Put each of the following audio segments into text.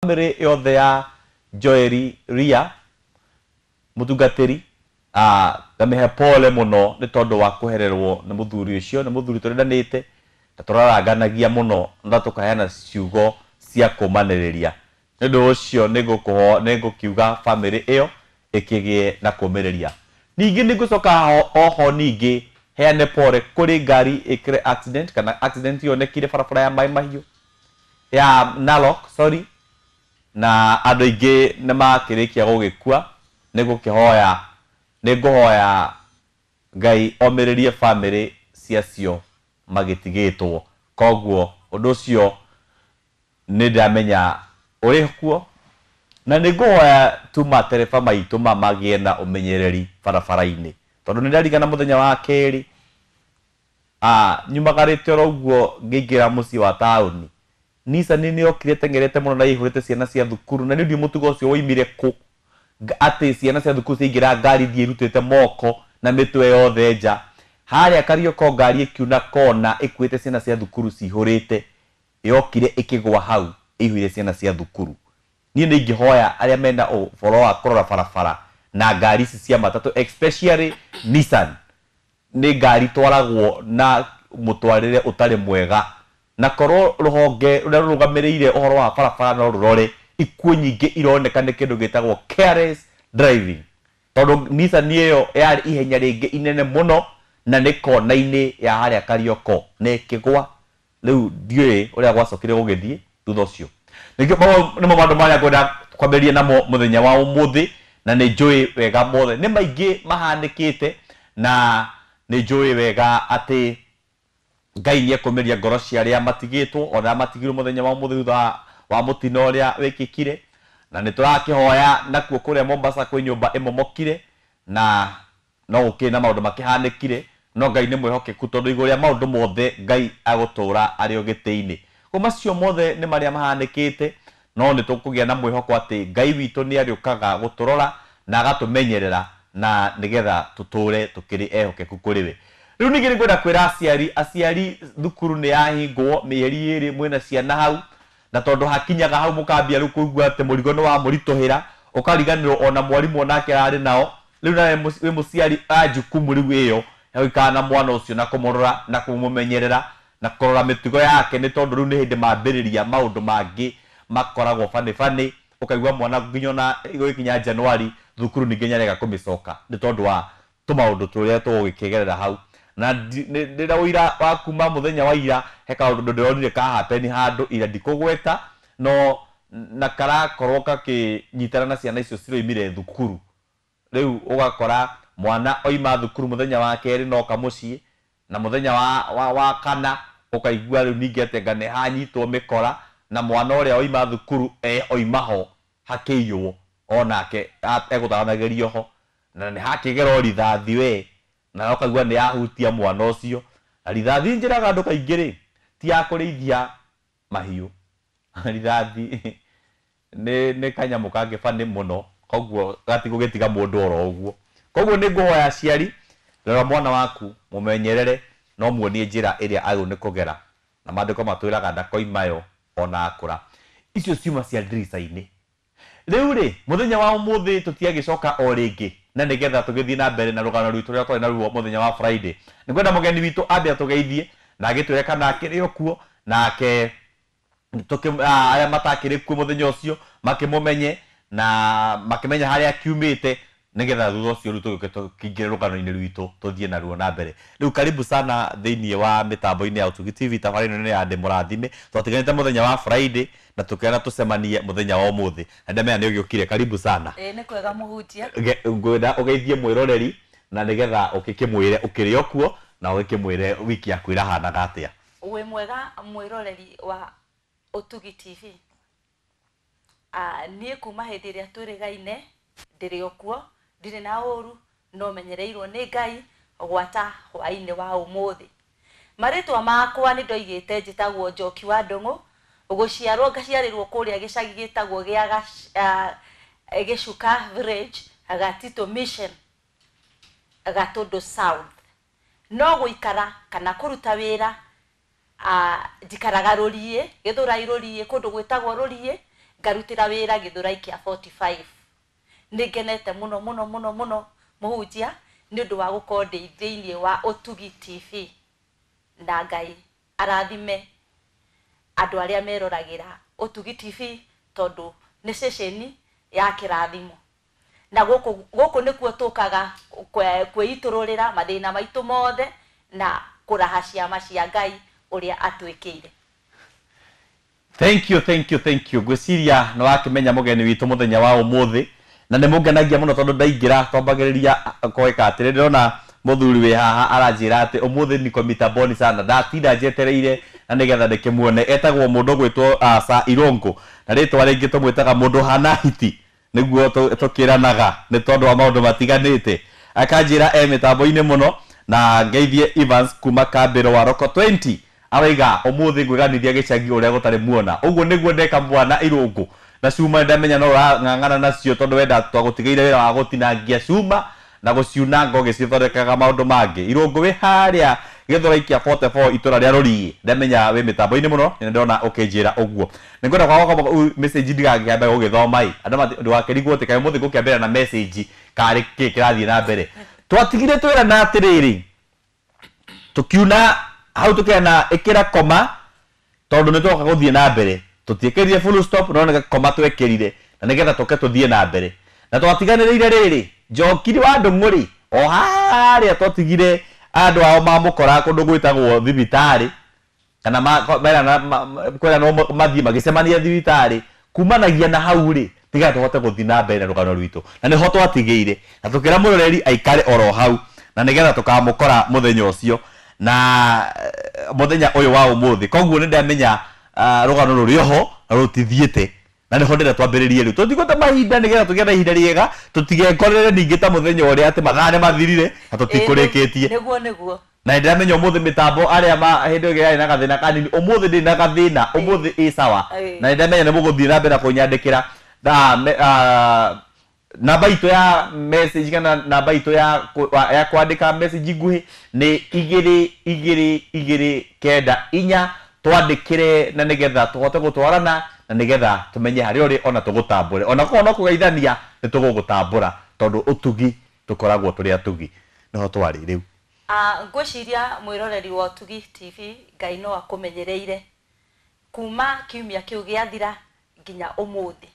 Famĩlĩ yothe ya Joeli Ria mũtungatĩri, ngamĩhe pole mũno nĩ tondũ wa kwehererwo nĩ mũthuri ũcio. Nĩ mũthuri tũrendanĩte na tũraranganagia mũno na tũkaheana ciugo cia kũmanĩrĩria. Nĩ ũndũ ũcio nĩ ngũkiuga famĩlĩ ĩyo ĩkĩgĩe na kũmĩrĩria. Ningĩ nĩ ngũcoka oho ningĩ heane pole kũrĩ ngari ĩkĩre accident kana accident yonekire barabara ya Mai Mahiũ, ya Narok, sorry, na andũ aingĩ nĩ makĩrĩkia gũgĩkua. Nĩ ngũkĩhoya, nĩ ngũhoya Ngai omĩrĩrie famĩlĩ ciacio magĩtigĩtwo. Koguo ũndũ ũcio nĩ ndĩramenya ũrĩ kuo, na nĩ ngũhoya tu matereba maitũ magĩe na ũmenyereri barabara-inĩ, tondũ nĩ ndarigana mũthenya wa kerĩ nyumagarĩte oro ũguo ngĩingĩra mũciĩ wa taũni, Nissan nĩ yokire ĩteng'erete mũno na ĩihũrĩte ciana cia thukuru, na nĩ ndiũ mũtugo ũcio woimire kũ, atĩ ciana cia thukuru ciaingĩra ngari thiĩ irutĩte moko na mĩtwe yothe nja. Harĩa Karioko ngari ĩkiuna kona ĩkuĩte ciana cia thukuru cihũrĩte, yokire ĩkĩgwa hau ĩihũire ciana cia thukuru. Niĩ nĩ ingĩhoya arĩa mena ũhoro wa kũrora barabara na ngari ici cia matatũ, especially Nissan, nĩ ngari twaragwo na mũtwarĩre ũtarĩ mwega, na korwo rũhonge rũrĩa rũrũgamĩrĩire ũhoro wa barabara no rũrore ikuũ nyingĩ ironeka nĩ kĩndũ gĩtagwo careless driving, tondũ Nissan ĩyo yarĩ ihenya rĩngĩ inene mũno na nĩ kona-inĩ ya harĩa Karioko na ĩkĩgwa. Rĩu ndiũĩ ũrĩa gwacokire gũgĩthiĩ thutha ũcio. Nĩkĩo nĩmo maũndũ marĩa ngwenda kwambĩrĩria namo mũthenya wa ũmũthĩ, na nĩ njũĩ wega mothe nĩ maingĩ mahanĩkĩte, na nĩ njũĩ wega atĩ Ngai nĩ ekũmĩria ngoro cia arĩa matigĩtwo ona arĩa matigirwo mũthenya wa ũmũthĩ thutha wa mũtino ũrĩa wĩkĩkire. Na nĩ tũrakĩhoya nakuo kũrĩa Mombasa kwĩ nyũmba ĩmomokire, na no gũkĩrĩ na maũndũ makĩhanĩkire, no Ngai nĩ mwĩhokeku, tondũ igũrũ rĩa maũndũ mothe Ngai agũtũra arĩ o gĩtĩ-inĩ. Koguo macio mothe nĩ marĩa mahanĩkĩte, no nĩ tũkũgĩa na mwĩhoko atĩ Ngai witũ nĩ arĩũkaga gũtũrora na agatũmenyerera, na nĩgetha tũtũre tũkĩrĩ ehokeku kũrĩ we. Rĩu ningĩ nĩ ngwenda kwĩra aciari, aciari, thukuru nĩ yahingwo mĩeri 2, mwĩna ciana hau, na tondũ hakinyaga hau mũkambia rĩu kũigua atĩ mũrigo nĩ wamũritũhĩra, ũkariganĩrwo ona mwarimũ onake ararĩ nao. Rĩu nawe wĩ mũciari a jukumu rĩu ĩyo ya gũikara na mwana ũcio na kũmũrora na kũmũmenyerera na kũrora mĩtugo yake, nĩ tondũ rĩu nĩ hĩndĩ mambĩrĩria maũndũ mangĩ makoragwo bani bani. Ũkaigua mwana nginya ona gũgĩkinya Januari thukuru ningĩ nĩarega kũmĩcoka nĩ tondũ wa tũmaũndũ tũrĩa tũgũgĩkĩgerera hau. Na ndĩna ũira wa kuma mũthenya wa ira, he kaũndũ ndĩronire ka happen handũ ira, ndikũgweta, no na karakorwo gakĩnyitana na ciana icio ciroimire thukuru. Rĩu ũgakora mwana oima thukuru mũthenya wa kerĩ noka mũciĩ, na mũthenya wa kana ũkaigua rĩu ningĩ atĩ anga nĩ hanyitwo mĩkora, na mwana ũrĩa oima thukuru oima ho hakĩiywo onake egũtaranagĩrio ho, na nĩ hakĩgerwo rithathi we, na ũkaigua nĩ yahutia mwana ũcio. Na rithathi njĩraga andũ kaingĩ rĩ, ti ya kũrĩithia mahiũ. Rithathi nĩ kanyamũ kangĩ bani mũno, koguo gatigũgĩtiga mũndũ oro ũguo. Koguo nĩ ngũhoya aciari, rora mwana waku, mũmenyerere, no muonie njĩra ĩrĩa agĩrĩirwo nĩ kũgera, na maandĩko matwĩraga ndakoimayo ona akũra. Icio ciuma cia ndirica-inĩ. Rĩu rĩ, mũthenya wa ũmũthĩ tũtiagĩcoka o rĩngĩ, na nĩgetha tũgĩthiĩ na mbere na rũgano rwitũ rũrĩa twarĩ naruo mũthenya wa Friday, nĩ ngwenda mũgeni witũ ambe atũgeithie na agĩtwĩre kana akĩrĩ o kuo, nake arĩa matakĩrĩ kuo mũthenya ũcio makĩmũmenye na makĩmenya harĩa akiumĩte, nĩgetha thutha ũcio rĩu tũgĩũke tũkĩingĩre rũgano-inĩ rwitũ tũthiĩ naruo na mbere. Rĩu karibu sana thĩinĩ wa mĩtambo-inĩ ya Ũtugi TV. Tabarĩra ĩno nĩ ya Ndĩ Mũrathime. Twatiganĩte mũthenya wa Friday na tũkĩona tũcemanie mũthenya wa ũmũthĩ, na ndamenya nĩ ũgĩũkire. Karibu sana. Ĩĩ, nĩ kwega, mũhunjia. Ngwenda ũgeithie mwĩroreri na nĩgetha ũgĩkĩmwĩre ũkĩrĩ o kuo, na ũgĩkĩmwĩre wiki yaku ĩrahanaga atĩa. Wĩ mwega, mwĩroreri wa Ũtugi TV. Niĩ kuma hĩndĩ ĩrĩa twĩrĩgaine ndĩrĩ o kuo, ndirĩ na ũru, no menyereirwo nĩ Ngai gwata hwaĩ-inĩ wa ũmũthĩ. Marĩtwa makwa nĩ ndoigĩte njĩtagwo Njoki wa Ndũng'ũ. Gũciarwo ngaciarĩrwo kũrĩa gĩcagi gĩtagwo gĩa Gĩcuka Village, Gatitũ Mission, Gatũndũ South. No gũikara kana kũruta wĩra, njikaraga Rũriĩ, Gĩthũrai Rũriĩ, kũndũ gwĩtagwo Rũriĩ. Ngarutĩra wĩra Gĩthũrai kĩa 45. Nĩ ngenete mũno mũno mũno mũno mũhunjia nĩ ũndũ wa gũkorwo ndĩ thĩinĩ wa Ũtugi TV, na Ngai arathime andũ arĩa meroragĩra Ũtugi TV tondũ nĩ ceceni ya kĩrathimo. Na gũkũ gũkũ nĩkuo tũkaga kwĩitũrũrĩra mathĩna maitũ mothe na kũraha ciama cia Ngai ũrĩa atwĩkĩire. Thank you, thank you, thank you. Ngwĩciria nĩ wakĩmenya mũgeni witũ mũthenya wa ũmũthĩ, na nĩ mũngenagia mũno tondũ ndaingĩra twambagĩrĩria kwĩka atĩrĩ, ndĩrona mũthuri wĩ haha aranjĩra atĩ ũmũthĩ niko mitamboni sana, ndatinda njetereire na nĩgetha ndĩkĩmuone. Etagwo mũndũ ũgwĩtwo Sir Irũngũ, na rĩtwa rĩngĩ tũmwĩtaga mũndũ hana hiti, nĩguo tũkĩranaga nĩ tondũ wa maũndũ matiganĩte. Akanjĩra e mĩtambo-inĩ mũno, na ngeithie Evans kuma Kambĩro wa Roko 20. Araiga ũmũthĩ ngwĩganithia gĩcagi ũrĩa gũtarĩ muona. Ũguo nĩguo ndeka mwana Irũngũ. Na cuma ndamenya no ũrang'ang'ana nacio tondũ wenda twagũtigĩire wĩra wa gũtinangia cuma na gũciuna ngũgĩcithondekaga maũndũ mangĩ. Irũngũ wĩ harĩa Gĩthũrai kĩa 44 itũra rĩa Rũriĩ. Ndamenya wĩ mĩtambo-inĩ mũno, na ndĩrona ũkĩnjĩra ũguo. Nĩngwenda kwaga kwamba message ndigakĩambe gũgĩthoma ĩ. Andũ ndũgakĩrigwo atĩ kaĩ ũmũthĩ ngũkĩambĩrĩria na message karĩ kĩ kĩrathiĩ na mbere. Twatigire twĩrana atĩrĩrĩ, tũkiuna hau tũkĩrana ĩkĩra koma tondũ nĩ twoka gũthiĩ na mbere. Tũtiĩkĩrire full stop, no nĩ koma twekĩrire na nĩgetha tũke tũthiĩ na mbere. Na twatiganĩrĩire rĩrĩ, Njoki wa Ndũng'ũ rĩ, o harĩa twatigire andũ ao mamũkora kũndũ gwĩtagwo thibitarĩ, kana kwĩranwo mathiĩ magĩcemania thibitarĩ, kumanagia na hau rĩ, tiga tũhote gũthiĩ na mbere na rũgano rwitũ. Na nĩho twatigĩire, na tũkĩra mũroreri aikare oro hau, na nĩgetha tũkamũkora mũthenya ũcio na mũthenya ũyũ wa ũmũthĩ. Koguo nĩ ndamenya rũgano rũrĩ oho na rũtithiĩte, na nĩho ndĩrenda twambĩrĩrie rĩu. Tũtigũte mahinda nĩgetha tũgĩe na ihinda rĩega, tũtigekorere ningĩ ta mũthenya ũrĩa atĩ mathaa nĩ mathirire na tũtikũrĩkĩtie. Nĩguo, nĩguo. Na ndĩramenya ũmũthĩ mĩtambo arĩa ma hĩndĩ ĩyo yarĩ na gathĩna kanini, ũmũthĩ ndĩ na gathĩna, ũmũthĩ ĩ sawa. Na ndĩramenya nĩ mũgũthiĩ na mbere na kũnyandĩkĩra na namba itũ ya message kana namba itũ ya kwandĩka message nguhĩ nĩ 2 2 2 9 4. Twandĩkĩre na nĩgetha tũhote gũtwarana na nĩgetha tũmenye harĩa ũrĩ ona tũgũtambũre. Ona korwo no kũgeithania nĩ tũgũgũtambũra tondũ ũtugi tũkoragwo tũrĩ atugi. Nĩho twarĩ rĩu. Ngwĩciria mwĩroreri wa Ũtugi TV Ngai no akũmenyereire kuma kiumia kĩu gĩathira nginya ũmũthĩ.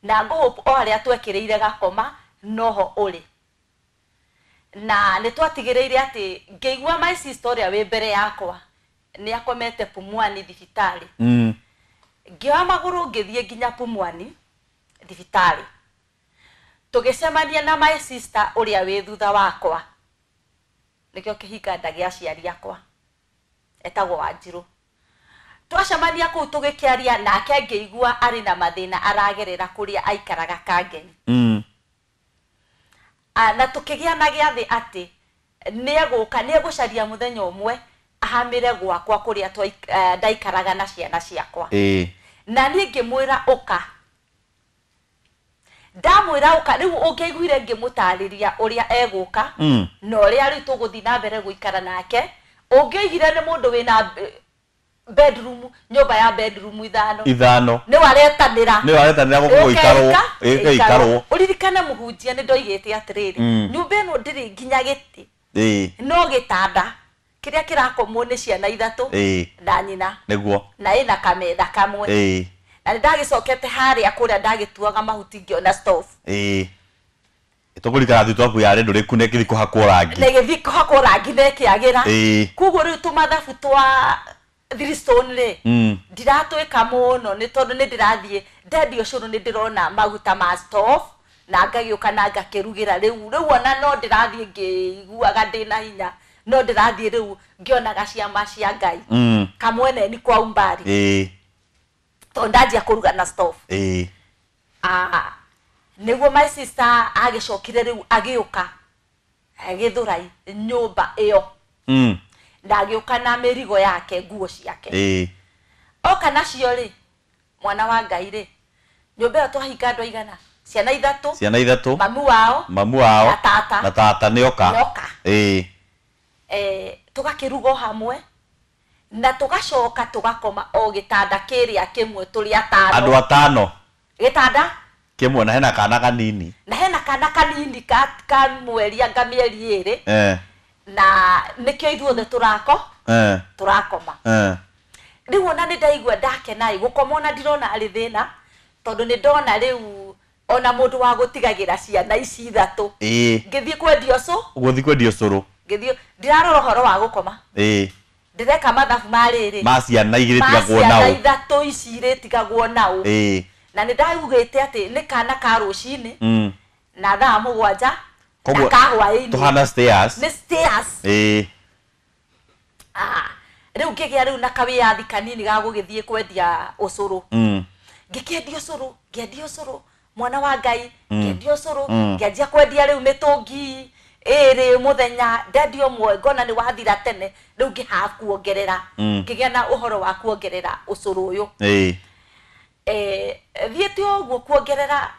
Na ngũhope o harĩa twekĩrĩire gakoma noho ũrĩ. Na nĩ twatigĩrĩire atĩ ngĩigua my sister ũrĩa wĩ mbere yakwa nĩ akomete Pumwani thibitarĩ. Ngĩoya magũrũ ngĩthiĩ nginya Pumwani thibitarĩ. Tũgĩcemania na my sister ũrĩa wĩ thutha wakwa. Nĩkĩo kĩhinga nda gĩa aciari akwa. Etagwo Wanjirũ. Twacemania kũu tũgĩkĩaria nake ngĩigua arĩ na mathĩna aragerera kũrĩa aikaraga Kangeni. Na tũkĩgĩa na gĩathĩ atĩ nĩegũka, nĩegũcaria mũthenya ũmwe ahamĩre gwakwa kũrĩa ndaikaraga na ciana ciakwa. Na niĩ ngĩmwĩra ũka. Ndamwĩra ũka, rĩu ũngĩaiguire ngĩmũtarĩria ũrĩa egũka, na ũrĩa rĩu tũgũthiĩ na mbere gũikara nake, ũngĩoigire nĩ mũndũ wĩna bedroom, nyũmba ya bedroom ithano. Ithano. Nĩ waretanĩra. Nĩ waretanĩra gũkũ gũikarwo. Ĩgĩikarwo. Ũririkane mũhunjia nĩ ndoigĩte atĩrĩrĩ, nyũmba ĩno ndĩrĩ nginya gĩtĩ. No gĩtanda kĩrĩa kĩrakomwo nĩ ciana ithatũ na nyina. Nĩguo. Na ĩna kametha kamwe. Na nĩ ndagĩcokete harĩa kũrĩa ndagĩtuaga mahuti ngĩona stove. Tũkũrikana thitobu yarĩ ndũrĩku na ĩgĩthiĩ kũhakwo rangi. Na ĩgĩthiĩ kũhakwo rangi na ĩkĩagĩra. Koguo rĩu tũmathabu twa three stone rĩ, ndiratwĩka mũno nĩ tondũ nĩ ndĩrathiĩ ndendia ũcũrũ nĩ ndĩrona maguta ma stove na ngagĩũka na ngakĩrugĩra rĩu. Rĩu ona no ndĩrathiĩ ngĩiguaga ndĩna hinya, no ndĩrathiĩ rĩu ngĩonaga ciama cia Ngai. Kamwene ni kwa umbali. Tondũ ndanjia kũruga na stove. Nĩguo my sister agĩcokire rĩu agĩũka Gĩthũrai nyũmba ĩyo. Na agĩũka na mĩrigo yake, nguo ciake. Oka nacio rĩ, mwana wa Ngai rĩ, nyũmba ĩyo twahinga andũ aigana? Ciana ithatũ. Ciana ithatũ. Mamu wao. Mamu wao. Na tata. Na tata nĩoka. Nĩoka. Tũgakĩruga o hamwe. Na tũgacoka tũgakoma o gĩtanda kĩrĩa kĩmwe tũrĩ atano. Andũ atano. Gĩtanda kĩmwe na hena kana kanini. Na hena kana kanini ka mweri anga mĩeri 2. Na nĩkĩo ithuothe tũrakoma. Rĩu ona nĩ ndaigua ndakena gũkoma ona ndirona arĩ thĩna tondũ nĩ ndona rĩu ona mũndũ wa gũtigagĩra ciana ici ithatũ. Ngĩthiĩ kwendia ũcũ. Gũthiĩ kwendia ũcũrũ. Ngĩthiĩ ndirarora ũhoro wa gũkoma. Ndĩreka mathabu ma rĩrĩ. Ma ciana igĩrĩ tigagwo nao. Ma ciana ithatũ ici irĩtigagwo nao. Na nĩ ndaugĩte atĩ nĩ kana ka rũcinĩ na thaa 7 na ka hwaĩ-inĩ. Tũhana stairs. Nĩ stairs. Rĩu ngĩgĩa rĩu na kawĩyathi kanini ga gũgĩthiĩ kwendia ũcũrũ. Ngĩkĩendia ũcũrũ, ngĩendia ũcũrũ, mwana wa Ngai, ngĩendia ũcũrũ, ngĩanjia kwendia rĩu mĩtũngi 2 mũthenya, ndendia ũmwe ngona nĩ wathira tene, rĩu ngĩhaha kuongerera, ngĩgĩa na ũhoro wa kuongerera ũcũrũ ũyũ. Thiĩte ũguo kuongerera,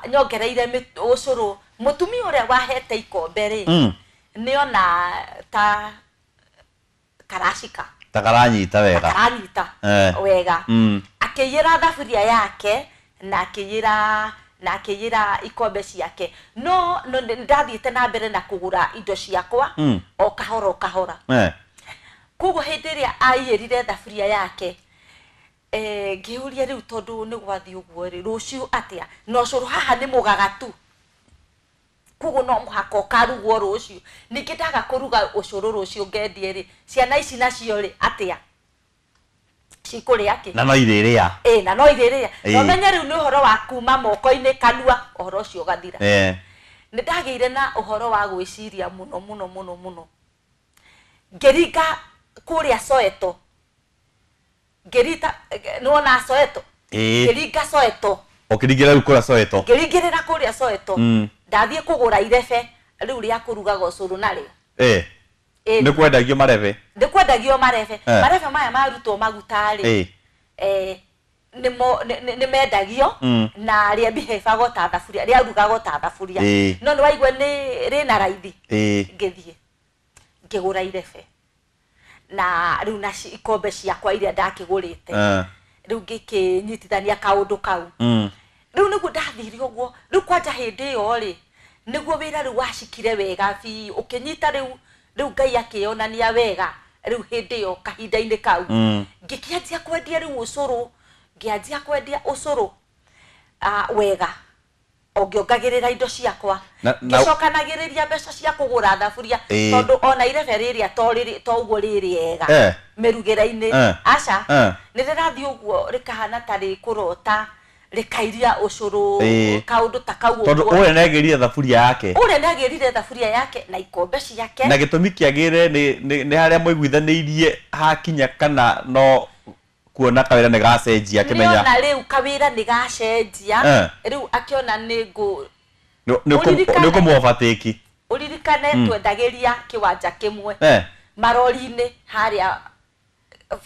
nyongereire ũcũrũ, mũtumia ũrĩa wahete ikombe rĩ, nĩona ta karacika. Ta karanyita wega. Karanyita wega. Akĩiyĩra thaburia yake na akĩiyĩra ikombe ciake. No ndathiĩte na mbere na kũgũra indo ciakwa o kahora o kahora. Koguo hĩndĩ ĩrĩa aiyĩrire thaburia yake, ngĩũria rĩu tondũ nĩ gwathiĩ ũguo rĩ, rũciũ atĩa? Na ũcũrũ haha nĩ mũgagatu. Koguo no mũhaka ũkarugwo rũciũ. Ningĩ ndaga kũruga ũcũrũ rũciũ ngendie rĩ, ciana ici nacio rĩ atĩa? Cikũrĩa kĩ? Na no irĩrĩa. Na no irĩrĩa. Na ũmenye rĩu nĩ ũhoro wa kuma moko-inĩ kanua, ũhoro ũcio ũgathira. Nĩ ndagĩire na ũhoro wa gwĩciria mũno mũno mũno mũno. Ngĩringa kũrĩa Soweto. Ngĩrita, nĩwona Soweto? Ngĩringa Soweto. Ũkĩringĩra rĩu kũrĩa Soweto? Ngĩringĩrĩra kũrĩa Soweto. Ndathiĩ kũgũra irebe rĩu rĩa kũrugaga ũcũrũ narĩo. Nĩ kwendagio marebe? Nĩ kwendagio marebe. Marebe maya marutwo maguta rĩ, nĩ mendagio na rĩambihĩbagwo ta thaburia, rĩarugagwo ta thaburia. No nĩ waigua nĩ rĩna raithi. Ngĩthiĩ ngĩgũra irebe. Na rĩu na ikombe ciakwa iria ndakĩgũrĩte. Rĩu ngĩkĩnyitithania kaũndũ kau. Rĩu nĩguo ndathire ũguo. Rĩu kwanja hĩndĩ ĩyo rĩ, nĩguo wĩra rĩu wacikire wega biũ, ũkĩnyita rĩu, rĩu Ngai akĩonania wega rĩu hĩndĩ ĩyo kahinda-inĩ kau. Ngĩkĩanjia kwendia rĩu ũcũrũ, ngĩanjia kwendia ũcũrũ wega. O ngĩongagĩrĩra indo ciakwa. Ngĩcokanagĩrĩria mbeca cia kũgũra thaburia, tondũ ona irebe rĩrĩa to ũguo rĩrĩega mĩrugĩre-inĩ. Aca, nĩ rĩrathiĩ ũguo rĩkahana ta rĩkũrota, rĩkairia ũcũrũ, kaũndũ ta kau ũguo. Tondũ ũrĩa nĩagĩrire thaburia yake. Ũrĩa nĩagĩrire thaburia yake na ikombe ciake. Na gĩtũmi kĩagĩre nĩ harĩa mũiguithanĩirie hakinya kana no kuona kawĩra nĩ gacenjia akĩmenya. Nĩona rĩu kawĩra nĩ gacenjia, rĩu akĩona nĩ ngũ nĩ ũkũmũ-overtake. Ũririkane twendagĩria kĩwanja kĩmwe marori-inĩ harĩa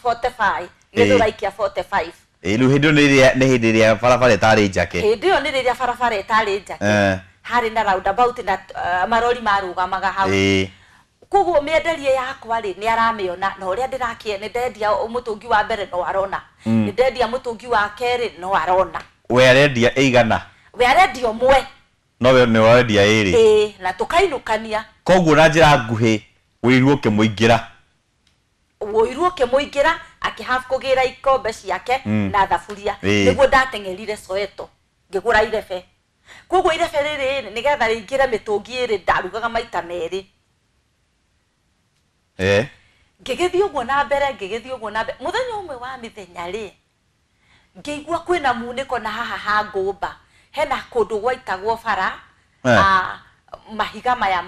45, gĩthũrai kĩa 45. Rĩu hĩndĩ ĩyo nĩ hĩndĩ ĩrĩa barabara ĩtarĩ njake. Hĩndĩ ĩyo nĩ rĩrĩa barabara ĩtarĩ njake. Harĩ na roundabout na marori marũgamaga hau. Koguo mĩenderie yakwa rĩ, nĩ aramĩona, na ũrĩa ndĩrakĩe, nĩ ndendia mũtũngi wa mbere no arona. Nĩ ndendia mũtũngi wa kerĩ no arona. We arendia ĩigana? We arendia ũmwe. No we nĩ ũrendia ĩrĩ. Na tũkainũkania. Koguo na njĩra nguhĩ, ũiru ũkĩmũingĩra. Ũiru ũkĩmũingĩra, akĩhave kũgĩra ikombe ciake na thaburia. Nĩguo ndateng'erire Soweto, ngĩgũra irebe. Koguo irebe rĩrĩ, nĩgetha rĩingĩre mĩtũngi ĩrĩ, ndarugaga maita merĩ. Ngĩgĩthiĩ ũguo na mbere, ngĩgĩthiĩ ũguo na mbere. Mũthenya ũmwe wa mĩthenya rĩ, ngĩigua kwĩna munĩko na haha ha ngũmba. Hena kũndũ gwaitagwo bara, mahiga maya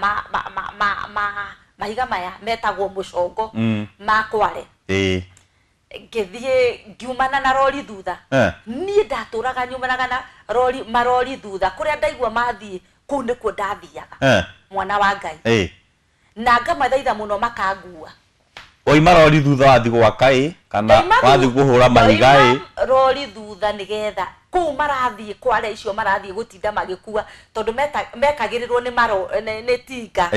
mahiga maya metagwo mũcongo ma Kware. Ngĩthiĩ ngiumana na rori thutha. Niĩ ndatũraga nyumanaga na rori, marori thutha. Kũrĩa ndaigua mathiĩ, kũu nĩkuo ndathiaga. Mwana wa Ngai. Na ngamathaitha mũno makangua. Waima rori thutha wathiĩ gwaka ĩ, kana wathiĩ kũhũra mahiga ĩ? Ndaima rori thutha nĩgetha kũu marathiĩ Kware icio marathiĩ gũtinda magĩkua, tondũ mekagĩrĩrwo nĩ tinga.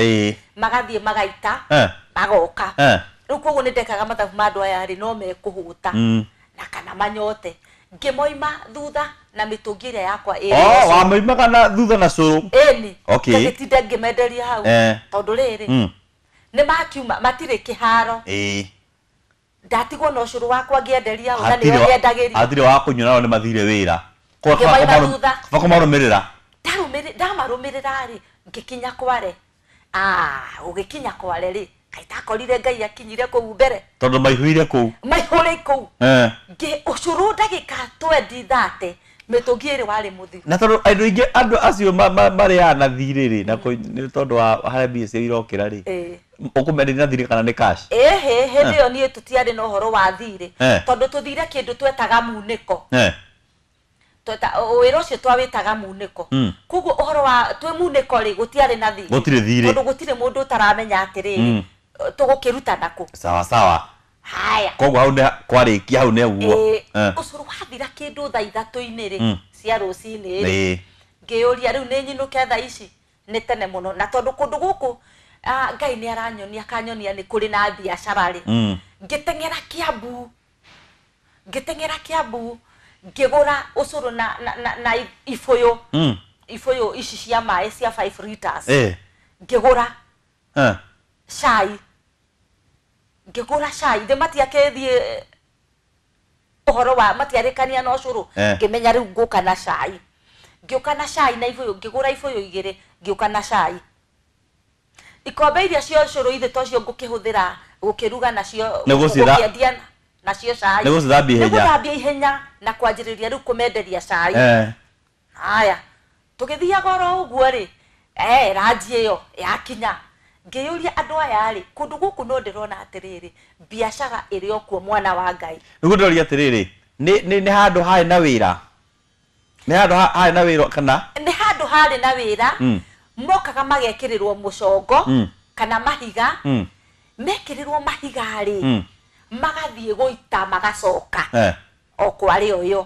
Magathiĩ magaita, magoka. Rĩu koguo nĩ ndekaga mathabu ma andũ aya rĩ, no mekũhũta na kana manyote. Ngĩmoima thutha na mĩtũngi ĩrĩa yakwa ĩrĩ Oh, wamoimaga na thutha na cũrũ. Ĩni. Okay. Ngagĩtinda ngĩmenderia hau. Tondũ rĩrĩ, nĩ makiuma matirĩ kĩharo. Ndatigwo na ũcũrũ wakwa ngĩenderia hau, na nĩo nyendagĩria. Hatirĩ wa kũnyua, nao nĩ mathire wĩra. Ngĩmoima thutha. Kaba kũmarũmĩrĩra. Ndamarũmĩrĩra rĩ, ngĩkinya Kware. Ũgĩkinya Kware rĩ, kaitakorire Ngai akinyire kũu mbere. Tondũ maihũire kũu. Maihũre kũu. Ũcũrũ ndagĩka 20 30 mĩtũngi ĩrĩ warĩ mũthiru. Na tondũ andũ aingĩ, andũ acio marĩaga na thirĩ rĩ, na nĩ tondũ wa harĩa mbia ciao irokĩra rĩ, ũkũmenderia na thirĩ kana nĩ cash? Ĩhĩ, hĩndĩ ĩyo niĩ tũtiarĩ na ũhoro wa thirĩ. Tondũ tũthire kĩndũ twetaga munĩko. Wĩra ũcio twawĩtaga munĩko. Koguo ũhoro wa twĩ munĩko rĩ, gũtiarĩ na thirĩ. Gũtirĩ thirĩ. Tondũ gũtirĩ mũndũ ũtaramenya atĩrĩrĩ, tũgũkĩruta nakũ. Sawa sawa. Haya. Koguo hau nĩ kwarĩkia, hau nĩ ũguo. Ũcũrũ wathira kĩndũ thaa ithatũ-inĩ rĩ, cia rũcinĩ rĩ, ngĩyũria rĩu nĩ nyinũke thaa ici, nĩ tene mũno. Na tondũ kũndũ gũkũ, Ngai nĩ aranyonia, akanyonia nĩ kũrĩ na biacara rĩ, ngĩteng'era Kiambu. Ngĩteng'era Kiambu, ngĩgũra ũcũrũ na ibũyũ. Ibũyũ ici cia maĩ cia 5 liters. Ngĩgũra cai. Ngĩgũra cai. Thĩ matiakĩthiĩ ũhoro wa matiarĩkania na ũcũrũ. Ngĩmenya rĩu ngũka na cai. Ngĩũka na cai na ibũyũ, ngĩgũra ibũyũ igĩrĩ, ngĩũka na cai. Ikombe iria cia ũcũrũ ithe tocio ngũkĩhũthĩra gũkĩruga nacio, gũkĩendia nacio cai. Nĩ gũcithambia ihenya. Nĩ gũthambia ihenya na kwanjĩrĩria rĩu kũmenderia cai. Haya, tũgĩthiaga oro ũguo rĩ, ranji ĩyo yakinya. Ngĩyũria andũ aya rĩ, kũndũ gũkũ no ndĩrona atĩrĩrĩ, biacara ĩrĩ o kuo, mwana wa Ngai. Nĩguo ndĩroria atĩrĩrĩ, nĩ handũ harĩ na wĩra? Nĩ handũ harĩ na wĩra kana? Nĩ handũ harĩ na wĩra, mokaga magekĩrĩrwo mũcongo kana mahiga. Mekĩrĩrwo mahiga rĩ, magathiĩ gũita magacoka o Kware o ĩyo.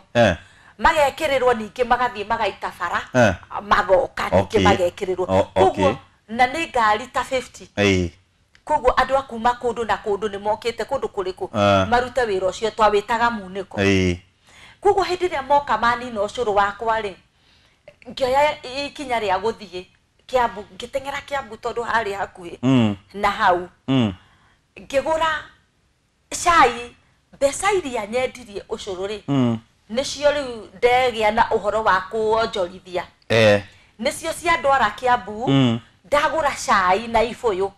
Magekĩrĩrwo ningĩ magathiĩ magaita bara, magoka ningĩ magekĩrĩrwo. Koguo na nĩ ngari ta 50. Koguo andũ a kuma kũndũ na kũndũ nĩ mokĩte kũndũ kũrĩkũ marute wĩra ũcio twawĩtaga munĩko. Koguo hĩndĩ ĩrĩa moka manina ũcũrũ wakwa rĩ, ngĩoya ikinya rĩa gũthiĩ Kiambu, ngĩteng'era Kiambu tondũ harĩ hakuhĩ na hau. Ngĩgũra cai, mbeca iria nyendirie ũcũrũ rĩ, nĩcio rĩu ndegĩa na ũhoro wa kũonjorithia. Nĩcio ciandwara Kiambu, ndagũra cai na ibũyũ.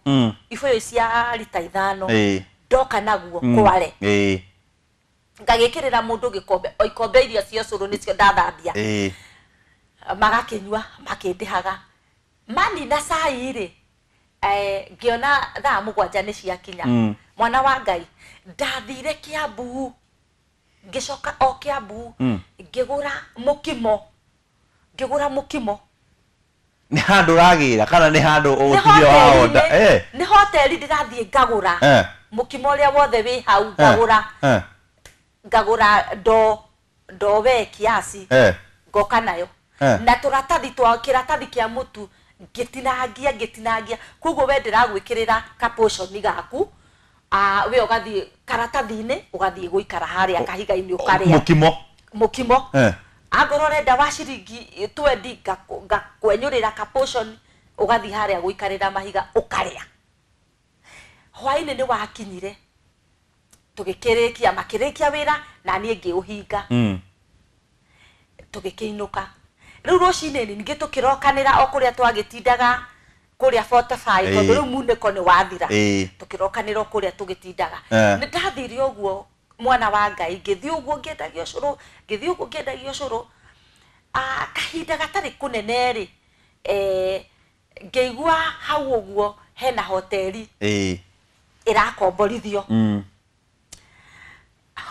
Ibũyũ cia rita 5. Ndoka naguo Kware. Ngagĩkĩrĩra mũndũ gĩkombe, o ikombe iria cia ũcũrũ nĩcio ndathambia. Magakĩnyua, makĩndĩhaga. Manina cai rĩ, ngĩona thaa 7 nĩ ciakinya. Mwana wa Ngai, ndathire Kiambu, ngĩcoka o Kiambu, ngĩgũra mũkimo. Ngĩgũra mũkimo. Nĩ handũ ũragĩra kana nĩ handũ ũgũtigio wa order? Nĩ hoteli ndĩrathiĩ ngagũra. Mũkimo ũrĩa wothe wĩ hau ngagũra. Ngagũra ndoo we kiasi. Ngoka nayo. Na tũratathi twa kĩratathi kĩa mũtu ngĩtinangia, ngĩtinangia. Koguo we ndĩragwĩkĩrĩra ka portion gaku. We ũgathiĩ karatathi-inĩ, ũgathiĩ gũikara harĩa kahiga-inĩ ũkarĩa. Mũkimo. Mũkimo. Angorwo ũrenda wa ciringi 20, ngakwenyũrĩra ka portion, ũgathiĩ harĩa gũikarĩra mahiga ũkarĩa. Hwaĩ-inĩ nĩ wakinyire. Tũgĩkĩrĩkia, makĩrĩkia wĩra na niĩ ngĩũhinga. Tũgĩkĩinũka. Rĩu rũcinĩ ningĩ tũkĩrokanĩra o kũrĩa twagĩtindaga kũrĩa 45, tondũ rĩu munĩko nĩ wathira. Tũkĩrokanĩra o kũrĩa tũgĩtindaga. Nĩ ndathire ũguo, mwana wa Ngai, ngĩthiĩ ũguo ngĩendagia ũcũrũ, ngĩthiĩ ũguo ngĩendagia ũcũrũ. Kahinda gatarĩ kũnene rĩ, ngĩigua hau ũguo hena hoteli ĩrakomborithio.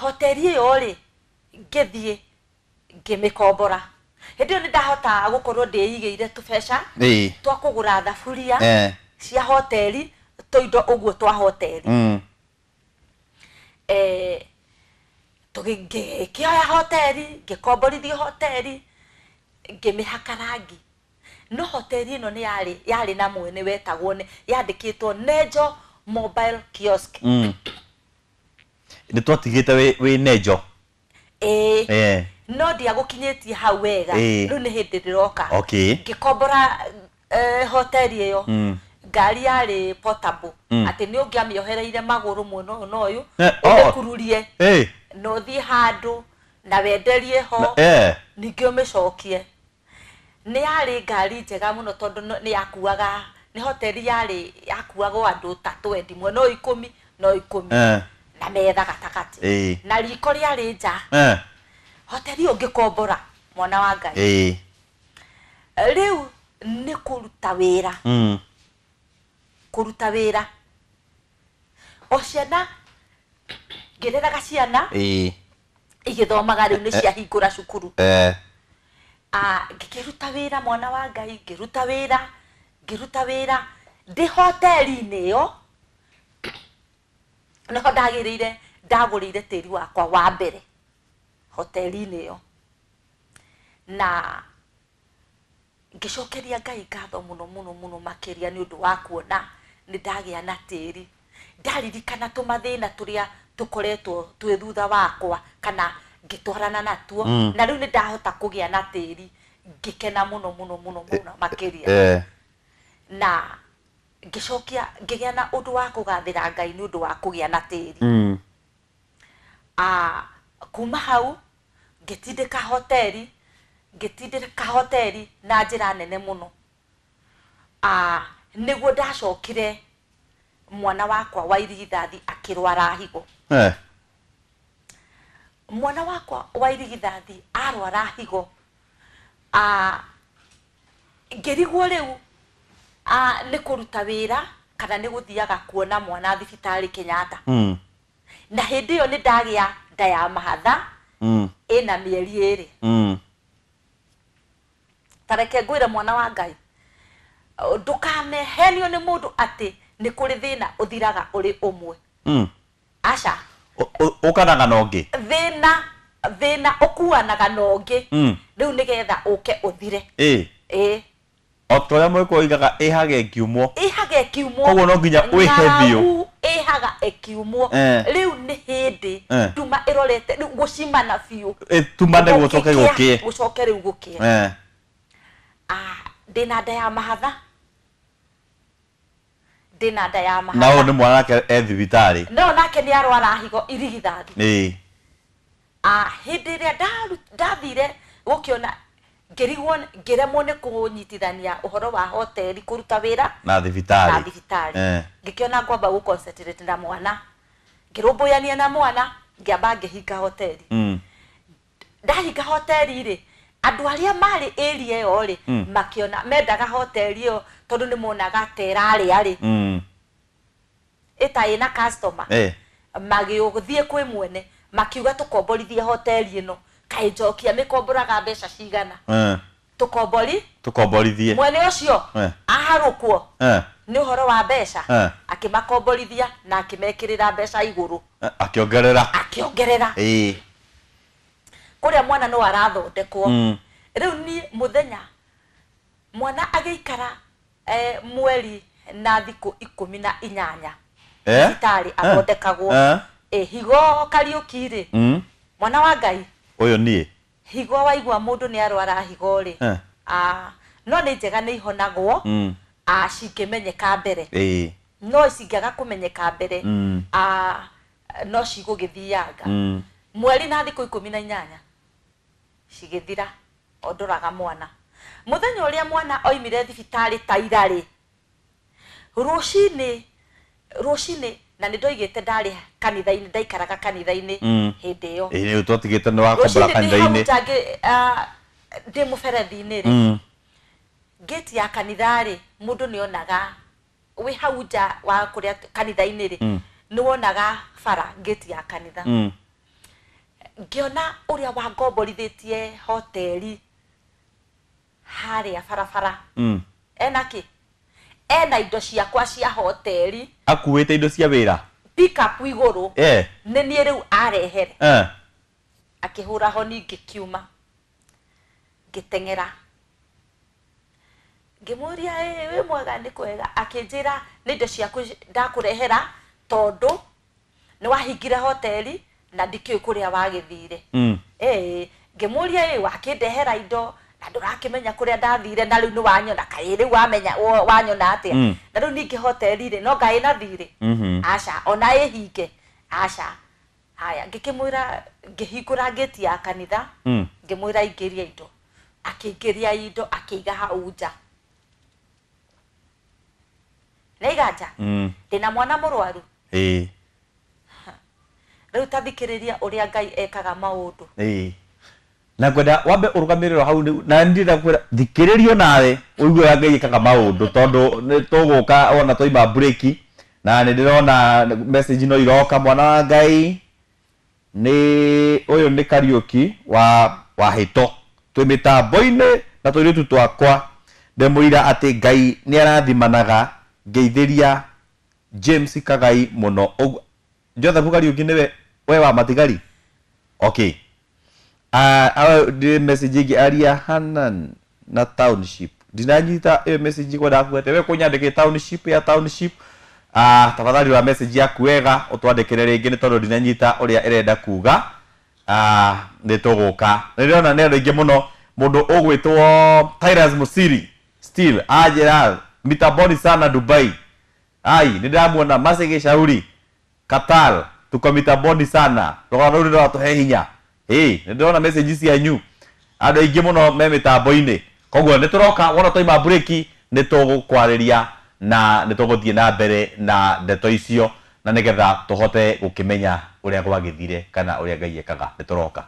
Hoteli ĩyo rĩ, ngĩthiĩ ngĩmĩkombora. Hĩndĩ ĩyo nĩ ndahota gũkorwo ndĩigĩire tũbeca twa kũgũra thaburia cia hoteli, tũindo ũguo twa hoteli. Ngĩkĩoya hoteli, ngĩkomborithio hoteli, ngĩmĩhaka rangi. No hoteli ĩno nĩ yarĩ na mwene wetagwo, yandĩkĩtwo Nejo Mobile kiosk. Nĩ twatigĩte wĩ nejo. Ĩĩ. Eh. No ndiagũkinyĩtie hau wega. Ĩĩ. Rĩu nĩ hĩndĩ ndĩroka. Okay. Ngĩkombora hoteli ĩyo. Ngari yarĩ portable, atĩ nĩ ũngĩamĩohereire magũrũ mwena ũyũ na ũyũ, Eh, oh. ũmĩkururie Eh. na ũthiĩ handũ na wenderie ho, Eh. ningĩ ũmĩcokie. Nĩ yarĩ ngari njega mũno tondũ nĩ yakuaga, nĩ hoteli yarĩ yakuagwo andũ ta 20, mwena ũyũ 10 na ũyũ 10, Eh. na metha gatagatĩ, Ĩĩ. na riko rĩarĩ nja. Eh. Hoteli ĩyo ngĩkombora, mwana wa Ngai. Ĩĩ. Rĩu nĩ kũruta wĩra, kũruta wĩra o ciana, ngĩreraga ciana Ĩĩ. igĩthomaga, rĩu nĩ ciahingũra cukuru. Eh. Ah, ngĩkĩruta wĩra, mwana wa Ngai, ngĩruta wĩra, ngĩruta wĩra ndĩ hoteli-inĩ ĩyo. Nĩho ndagĩrĩire, ndagũrĩire tĩri wakwa wa mbere hoteli-inĩ ĩyo, na ngĩcokeria Ngai ngatho mũno mũno mũno makĩria nĩ ũndũ wa kuona nĩ ndagĩa na tĩri. Ndaririkana tũmathĩna tũrĩa tũkoretwo twĩ thutha wakwa kana ngĩtwarana natuo, na rĩu nĩ ndahota kũgĩa na tĩri, ngĩkena mũno mũno mũno mũno makĩria. Eh. Na ngĩcokia ngĩgĩa na ũndũ wa kũgathĩra Ngai nĩ ũndũ wa kũgĩa na tĩri. Ah, kuma hau ngĩtindĩka hoteli, ngĩtindĩka hoteli na njĩra nene mũno. Ah, nĩguo ndacokire mwana wakwa wa irigithathi akĩrwara higo. Eh. Mwana wakwa wa irigithathi arwara higo, ah, ngĩrigwo rĩu, ah, nĩ kũruta wĩra kana nĩ gũthiaga kuona mwana thibitarĩ Kenyatta. Na hĩndĩ ĩyo nĩ ndagĩa nda ya mahatha, ĩna mĩeri 2. Ta reke ngwĩre, mwana wa Ngai, ndũkanehenio nĩ mũndũ atĩ nĩ kũrĩ thĩna ũthiraga ũrĩ ũmwe. Aca. Ũkanaga na ũngĩ. Thĩna ũkuanaga na ũngĩ, rĩu nĩgetha ũke ũthire. Ĩĩ. Ĩĩ. O ta ũrĩa mũgĩkũyũ oigaga, ĩhaga ĩkiumwo. Ĩhaga ĩkiumwo. Koguo no nginya wĩhe biũ. Ng'aragu ĩhaga ĩkiumwo. Eh. Rĩu nĩ hĩndĩ Eh. nduma ĩrorete rĩu gũcimana biũ. Ĩtumane gũcoke Gũgĩkĩa, gũkĩe. gũcoke rĩu gũkĩe. Eh. Ah, ndĩna nda ya mahatha, ndĩna nda ya Na mahatha. ũyũ nĩ mwana nake e thibitarĩ. No nake nĩ arwara higo irigithathi. Ĩĩ. Ah, hĩndĩ ĩrĩa ndathire gũkĩona, ngĩrigwo, ngĩremwo nĩ kũnyitithania ũhoro wa hoteli kũruta wĩra na thibitarĩ. Na thibitarĩ. Eh. Ngĩkĩona ngwamba gũ concentrate na mwana, ngĩrũmbũyania na mwana, ngĩamba ngĩhinga hoteli. Ndahinga hoteli rĩ, andũ arĩa marĩ area ĩyo rĩ, makĩona mendaga hoteli ĩyo tondũ nĩ monaga ta ĩrarĩa rĩ, ĩta ĩna customer. Eh. Magĩthiĩ kwĩ mwene makiuga, "Tũkomborithie hoteli ĩno." Kaĩ njokia mĩkomboraga mbeca cigana? Eh. Tũkombori. Tũkomborithie. Mwene ũcio Eh. aharũkwo Eh. nĩ ũhoro wa mbeca. Eh. Akĩmakomborithia na akĩmekĩrĩra mbeca igũrũ. Eh, akĩongerera. Akĩongerera. Ĩĩ. Kũrĩa mwana no arathondekwo. Rĩu niĩ mũthenya mwana agĩikara mweri na thikũ 18 Eh? thibitarĩ Eh. athondekagwo. Eh. Higo Kariũki rĩ, mwana wa Ngai, Ũyũ niĩ. Higo waigua mũndũ nĩ arwara higo rĩ, Eh. ah, no nĩ njega, nĩ ihonagwo, ah, cingĩmenyeka mbere. Ĩĩ. No cingĩaga kũmenyeka mbere, ah, no cigũgĩthianga. Mweri na thikũ 18 cigĩthira o ndoraga mwana. Mũthenya ũrĩa mwana oimire thibitarĩ ta ira rĩ, rũcinĩ rũcinĩ, na nĩ ndoigĩte ndarĩ kanitha-inĩ, ndaikaraga kanitha-inĩ hĩndĩ ĩyo. Ĩĩ, rĩu twatigĩte nĩ wakombora Rũcinĩ ndĩ hau kanitha-inĩ. nja ndĩ mũberethi-inĩ rĩ, ngĩti ya kanitha rĩ, mũndũ nĩ onaga wĩ hau nja wa kũrĩa kanitha-inĩ rĩ, nĩ wonaga bara ngĩti ya kanitha. Ngĩona ũrĩa wangomborithĩtie hoteli harĩa barabara, ena kĩ, ena indo ciakwa cia hoteli. Akuĩte indo cia wĩra. Pickup igũrũ. Eh. Nĩ niĩ rĩu arehere. Eh. Akĩhũra honi, ngĩkiuma ngĩteng'era. Ngĩmũria ĩ wĩ mwega nĩ kwega, akĩnjĩra nĩ indo ciaku ndakũrehera tondũ nĩ wahingire hoteli na ndikĩũĩ kũrĩa wagĩthire. Ngĩmũria ĩ wakĩndehera indo na ndũrakĩmenya kũrĩa ndathire na rĩu nĩ wanyona, kaĩ rĩu wamenya wanyona atĩa? Na rĩu ningĩ hoteli rĩ no ngaĩ na thirĩ? Aca, ona ĩhinge aca. Haya, ngĩkĩmwĩra, ngĩhingũra ngĩti ya kanitha, ngĩmwĩra aingĩrie indo, akĩingĩria indo akĩiga hau nja. Nĩaiga nja? Ndĩna mwana mũrwaru. Rĩu ta thikĩrĩria ũrĩa Ngai ekaga maũndũ. Na ngwenda wambe ũrũgamĩrĩro hau na ndĩrenda kwĩra thikĩrĩrio nawe ũigue ũrĩa Ngai ekaga maũndũ tondũ nĩ tũgũka ona twaima break na nĩ ndĩrona message no iroka mwana wa Ngai nĩ ũyũ nĩ Kariũki wa Wahĩto twĩ mĩtambo-inĩ na tũirĩtu twakwa ndĩmũira atĩ Ngai nĩ arathimanaga ngeithĩria James Kagai mũno. Joseph Kariũki nĩwe we wa matigari. Okay. Ndĩ message ĩngĩ aria Hanan na township. Ndinanyita ĩyo message kwenda kuga we kũnyandĩkĩre township ya township. Tafadhali rora message yaku wega ũtwandĩkĩre rĩngĩ nĩ tondũ ndinanyita ũrĩa ĩrenda kuga. Nĩ tũgũka. Nĩ ndĩrona nĩ andũ aingĩ mũno mũndũ ũgwĩtwo Tyrus Musiri still anjĩra mitamboni sana Dubai. Ai, nĩ ndĩramuona Mercy Gĩcauri Qatar tuko mitamboni sana. Rũgano rũu nĩ rũratũhe hinya. Nĩ ndĩrona message cianyu andũ aingĩ mũno me mĩtambo-inĩ. Koguo nĩ tũroka wona twaima break nĩ tũgũkwarĩria na nĩ tũgũthiĩ na mbere na ndeto icio na nĩgetha tũhote gũkĩmenya ũrĩa gwagĩthire kana ũrĩa Ngai ekaga. Nĩ tũroka.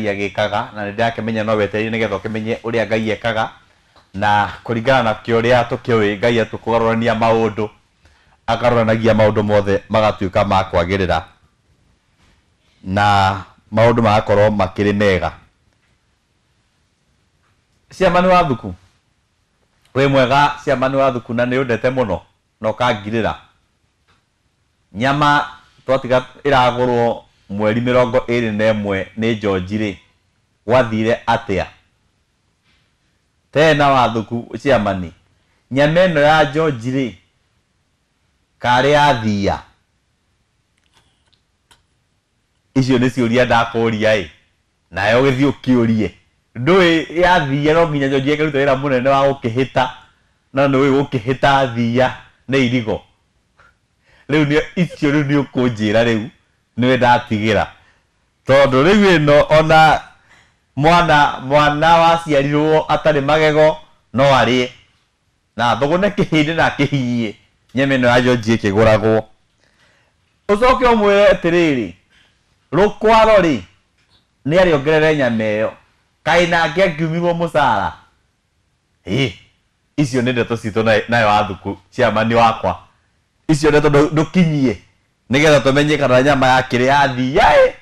Agĩkaga na nĩ ndĩrakĩmenya no weterire nĩgetha ũkĩmenye ũrĩa Ngai ekaga na kũringana na kĩũrĩa tũkĩũĩ Ngai atũkũgarũrania maũndũ akaroranagia maũndũ mothe magatuĩka ma kwagĩrĩra na maũndũ magakorwo makĩrĩ mega. Ciama nĩ wathuku wĩ mwega, ciama nĩ wathuku na nĩ ũndete mũno na ũkangirĩra nyama twatiga ĩragũrwo mweri 21 nĩ George rĩ gwathire atĩa tena wathuku ciamani nyama ĩno ya George rĩ karĩ yathia icio nĩ ciũria ndakũria ĩ nayo ũgĩthiĩ ũkĩũrie ndũĩ yathia no nginya George ĩkaruta wĩra mũnene wa gũkĩhĩta na nĩũĩ gũkĩhĩta thia nĩ irigo rĩu nĩ icio rĩu nĩ ũkũnjĩra rĩu nĩwe ndatigĩra tondũ rĩu ĩno ona mwana waciarirwo atarĩ magego no arĩe na thũgũne kĩhĩndĩ na akĩhinyie nyama ĩno ya George ĩkĩgũragwo. Ũcoke ũmwĩre atĩrĩrĩ rũkwaro rĩ nĩ arĩongerere nyama ĩyo kaĩ nake angiumirwo mũcara. Icio nĩ ndeto citũ nayo wathuku ciamani wakwa icio ndeto ndũkinyie nĩgetha tũmenye kana nyama yakĩrĩ yathia ĩ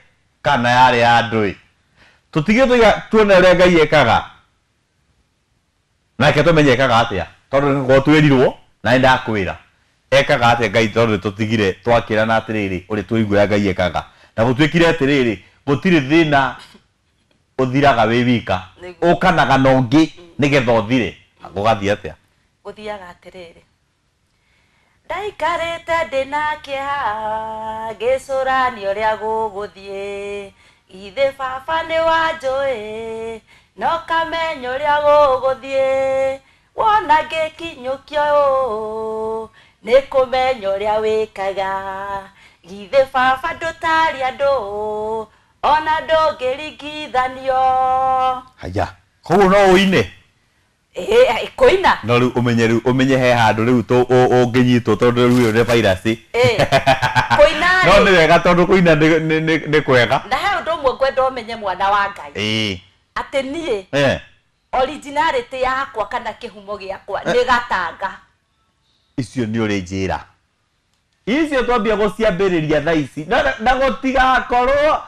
kana yarĩ ya andũ ĩ. Tũtige tuone ũrĩa Ngai ekaga nake tũmenye ekaga atĩa tondũ nĩgũkorwo twĩrirwo na nĩ ndakwĩra ekaga atĩa Ngai tondũ nĩtũtigire twakĩrana atĩrĩrĩ ũrĩa tũigua ũrĩa Ngai ekaga na gũtuĩkire atĩrĩrĩ gũtirĩ thĩna ũthiraga wĩ wika ũkanaga na ũngĩ nĩgetha ũthire. Gũgathiĩ atĩa? Gũthiaga atĩrĩrĩ ndaikarĩte ndĩna kĩeha ngĩcũrania ũrĩa gũgũthiĩ githĩ baba nĩ wanjũĩ no kamenya ũrĩa gũgũthiĩ wona ngĩkinyũkio ũũ nĩ kũmenya ũrĩa wĩkaga githĩ baba ndũtarĩ andũ ona ndũngĩringithanio. Haya. Koguo no ũine? Ĩĩ, kũina. No rĩu ũmenye, rĩu ũmenye he handũ rĩu ũngĩnyitwo tondũ rĩu ĩyo nĩ virus. Ĩĩ, kũina No rĩ. Nĩ wega tondũ kũina nĩ kwega. Na he ũndũ ũmwe ngwenda ũmenye, mwana wa Ngai, atĩ niĩ originality yakwa kana kĩhumo gĩakwa nĩ Gatanga. Icio nĩ ũrĩ njĩra icio twambia gũciambĩrĩria thaa ici na gũtigakorwo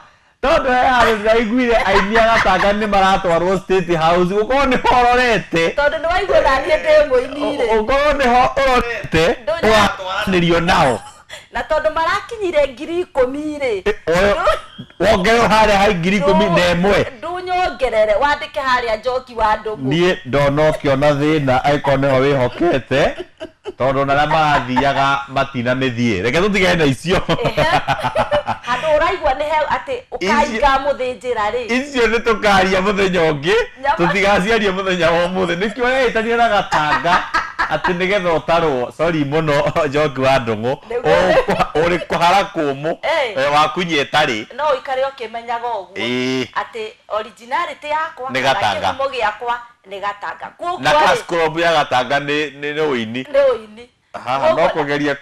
tondũ he handũ ndĩraiguire aini a Gatanga nĩ maratwarwo State House, gũkorwo nĩho ũrorete. Tondũ nĩ waigua naniĩ ndĩ mũini rĩ. Ũkorwo nĩho ũrorete ũgatwaranĩrio nao. Na tondũ marakinyire 10,000 rĩ, wongererwo harĩa hai 11,000. Ndunyongerere wandĩke harĩa Njoki wa Ndũng'ũ. Niĩ ndona ũkĩona thĩna angĩkorwo nĩho wĩhokete, tondũ ona arĩa marathiaga matina mĩthiĩ, reke tũtigane na icio. Ehe. Handũ ũraigua nĩ he atĩ ũkainga mũthĩnjĩra rĩ. Icio nĩ tũkaria mũthenya ũngĩ. Nyama. Tũtigaciaria mũthenya wa ũmũthĩ, nĩkĩo ũrehĩtania na Gatanga atĩ nĩgetha ũtarwo. Sorry mũno, Njoki wa Ndũng'ũ. Ũrĩ kũhara kũmũ. Wakunyia ĩtarĩ. No ũikare ũkĩmenyaga ũguo atĩ originality yakwa Nĩ kana Gatanga. kĩhumo gĩakwa nĩ Gatanga. Na Koguo rĩ, cash crop ya Gatanga nĩ ũini. Nĩ ũini. Haha no kũgeria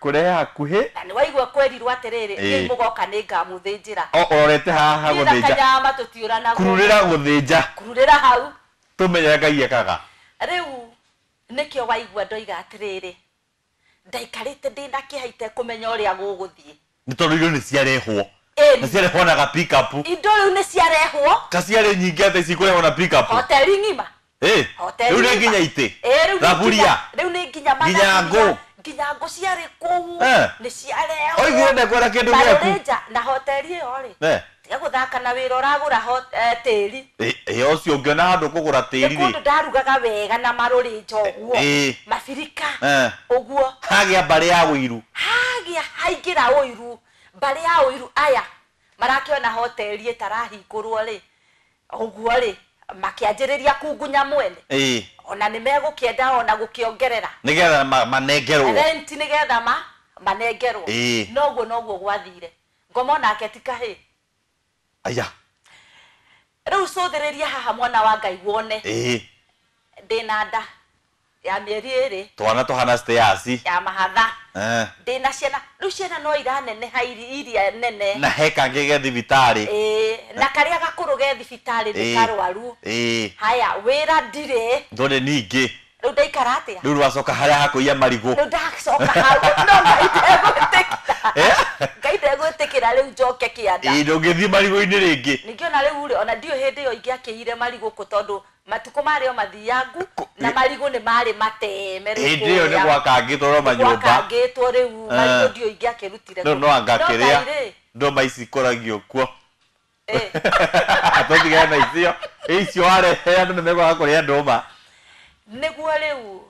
kũrehe hakuhĩ. Na nĩ waigua kwerirwo atĩrĩrĩ, niĩ mũgoka nĩ ngamũthĩnjĩra. O ũrorete haha Niĩ na gũthĩnja. kanyama tũtiũranagwo. Kururĩra gũthĩnja. Kururĩra hau. Tũmenye Ngai ekaga. Rĩu nĩkĩo waigua ndoiga atĩrĩrĩ, ndaikarĩte ndĩna kĩeha itekũmenya ũrĩa gũgũthiĩ. Nĩ tondũ irio nĩ ciarehwo na ciarehwo na ga pick up. Indo rĩu nĩ ciarehwo. Ka ciarĩ nyingĩ atĩ cikũrehwo na pick up. Hoteli ng'ima. Hoteli Rĩu nĩ ng'ima. nginya itĩ, Ĩĩ, rĩu nĩ thaburia. rĩu nĩ nginya Nginya mathaburia, ngũ. Nginya ngũ ciarĩ kũu. Nĩ ciarehwo. Oigire ndekwenda kĩndũ gĩaku. Marũrĩnja na hoteli ĩyo rĩ, tiga gũthaka na wĩra ũragũra tĩri. Ĩ, ũcio ũngĩona handũ kũgũra Nĩ tĩri kũndũ rĩ. ndarugaga wega na marũrĩnja ũguo, mabirika ũguo. Hagĩa mbarĩ ya ũiru. Hagĩa haingĩra ũiru, mbarĩ ya ũiru aya marakĩona hoteli ĩtarahingũrwo rĩ, ũguo rĩ, makĩanjĩrĩria kungunya mwene. Ona nĩ megũkĩenda ona gũkĩongerera nĩgetha manengerwo rent, nĩgetha manengerwo. Noguo noguo gwathire, ngoma onake ti kahĩ. Aya. Rĩu cũthĩrĩria haha, mwana wa Ngai, wone ndĩna nda ya mĩeri 2. Twana tũhana stairs. Ya mahatha. Ndĩna ciana rĩu, ciana no iraneneha iria nene. Na he kangĩ ge thibitarĩ. Ĩĩ, na karĩa gakũrũ ge thibitarĩ nĩ karwaru. Haya, wĩra ndirĩ. Ndũrĩ ningĩ. Rĩu ndaikara atĩa? Rĩu rwacoka harĩa hakũiya marigũ. Rĩu ndacoka hau, no Ngai ndegwĩtĩkĩra. Ngai ndegwĩtĩkĩra rĩu njoke kĩanda. Ĩĩ, ndũngĩthiĩ marigũ-inĩ rĩngĩ. Ningĩ ona rĩu rĩ, ona ndiũĩ hĩndĩ ĩyo ingĩakĩire marigũ kũ, tondũ matukũ marĩ o mathiangu na marigũ nĩ marĩ mateme rĩu. Hĩndĩ ĩyo nĩ Kũrĩa. gwakangĩtwo no manyũmba. Gwakangĩtwo rĩu, marigũ ndiũĩ ingĩakĩrutire Rĩu kũ. no anga No kĩrĩa Ngai rĩ, ndũma ici ikũragio kuo. Tũtigane na icio, icio warehe andũ nĩ mekwaga kũrĩa ndũma. Nĩguo rĩu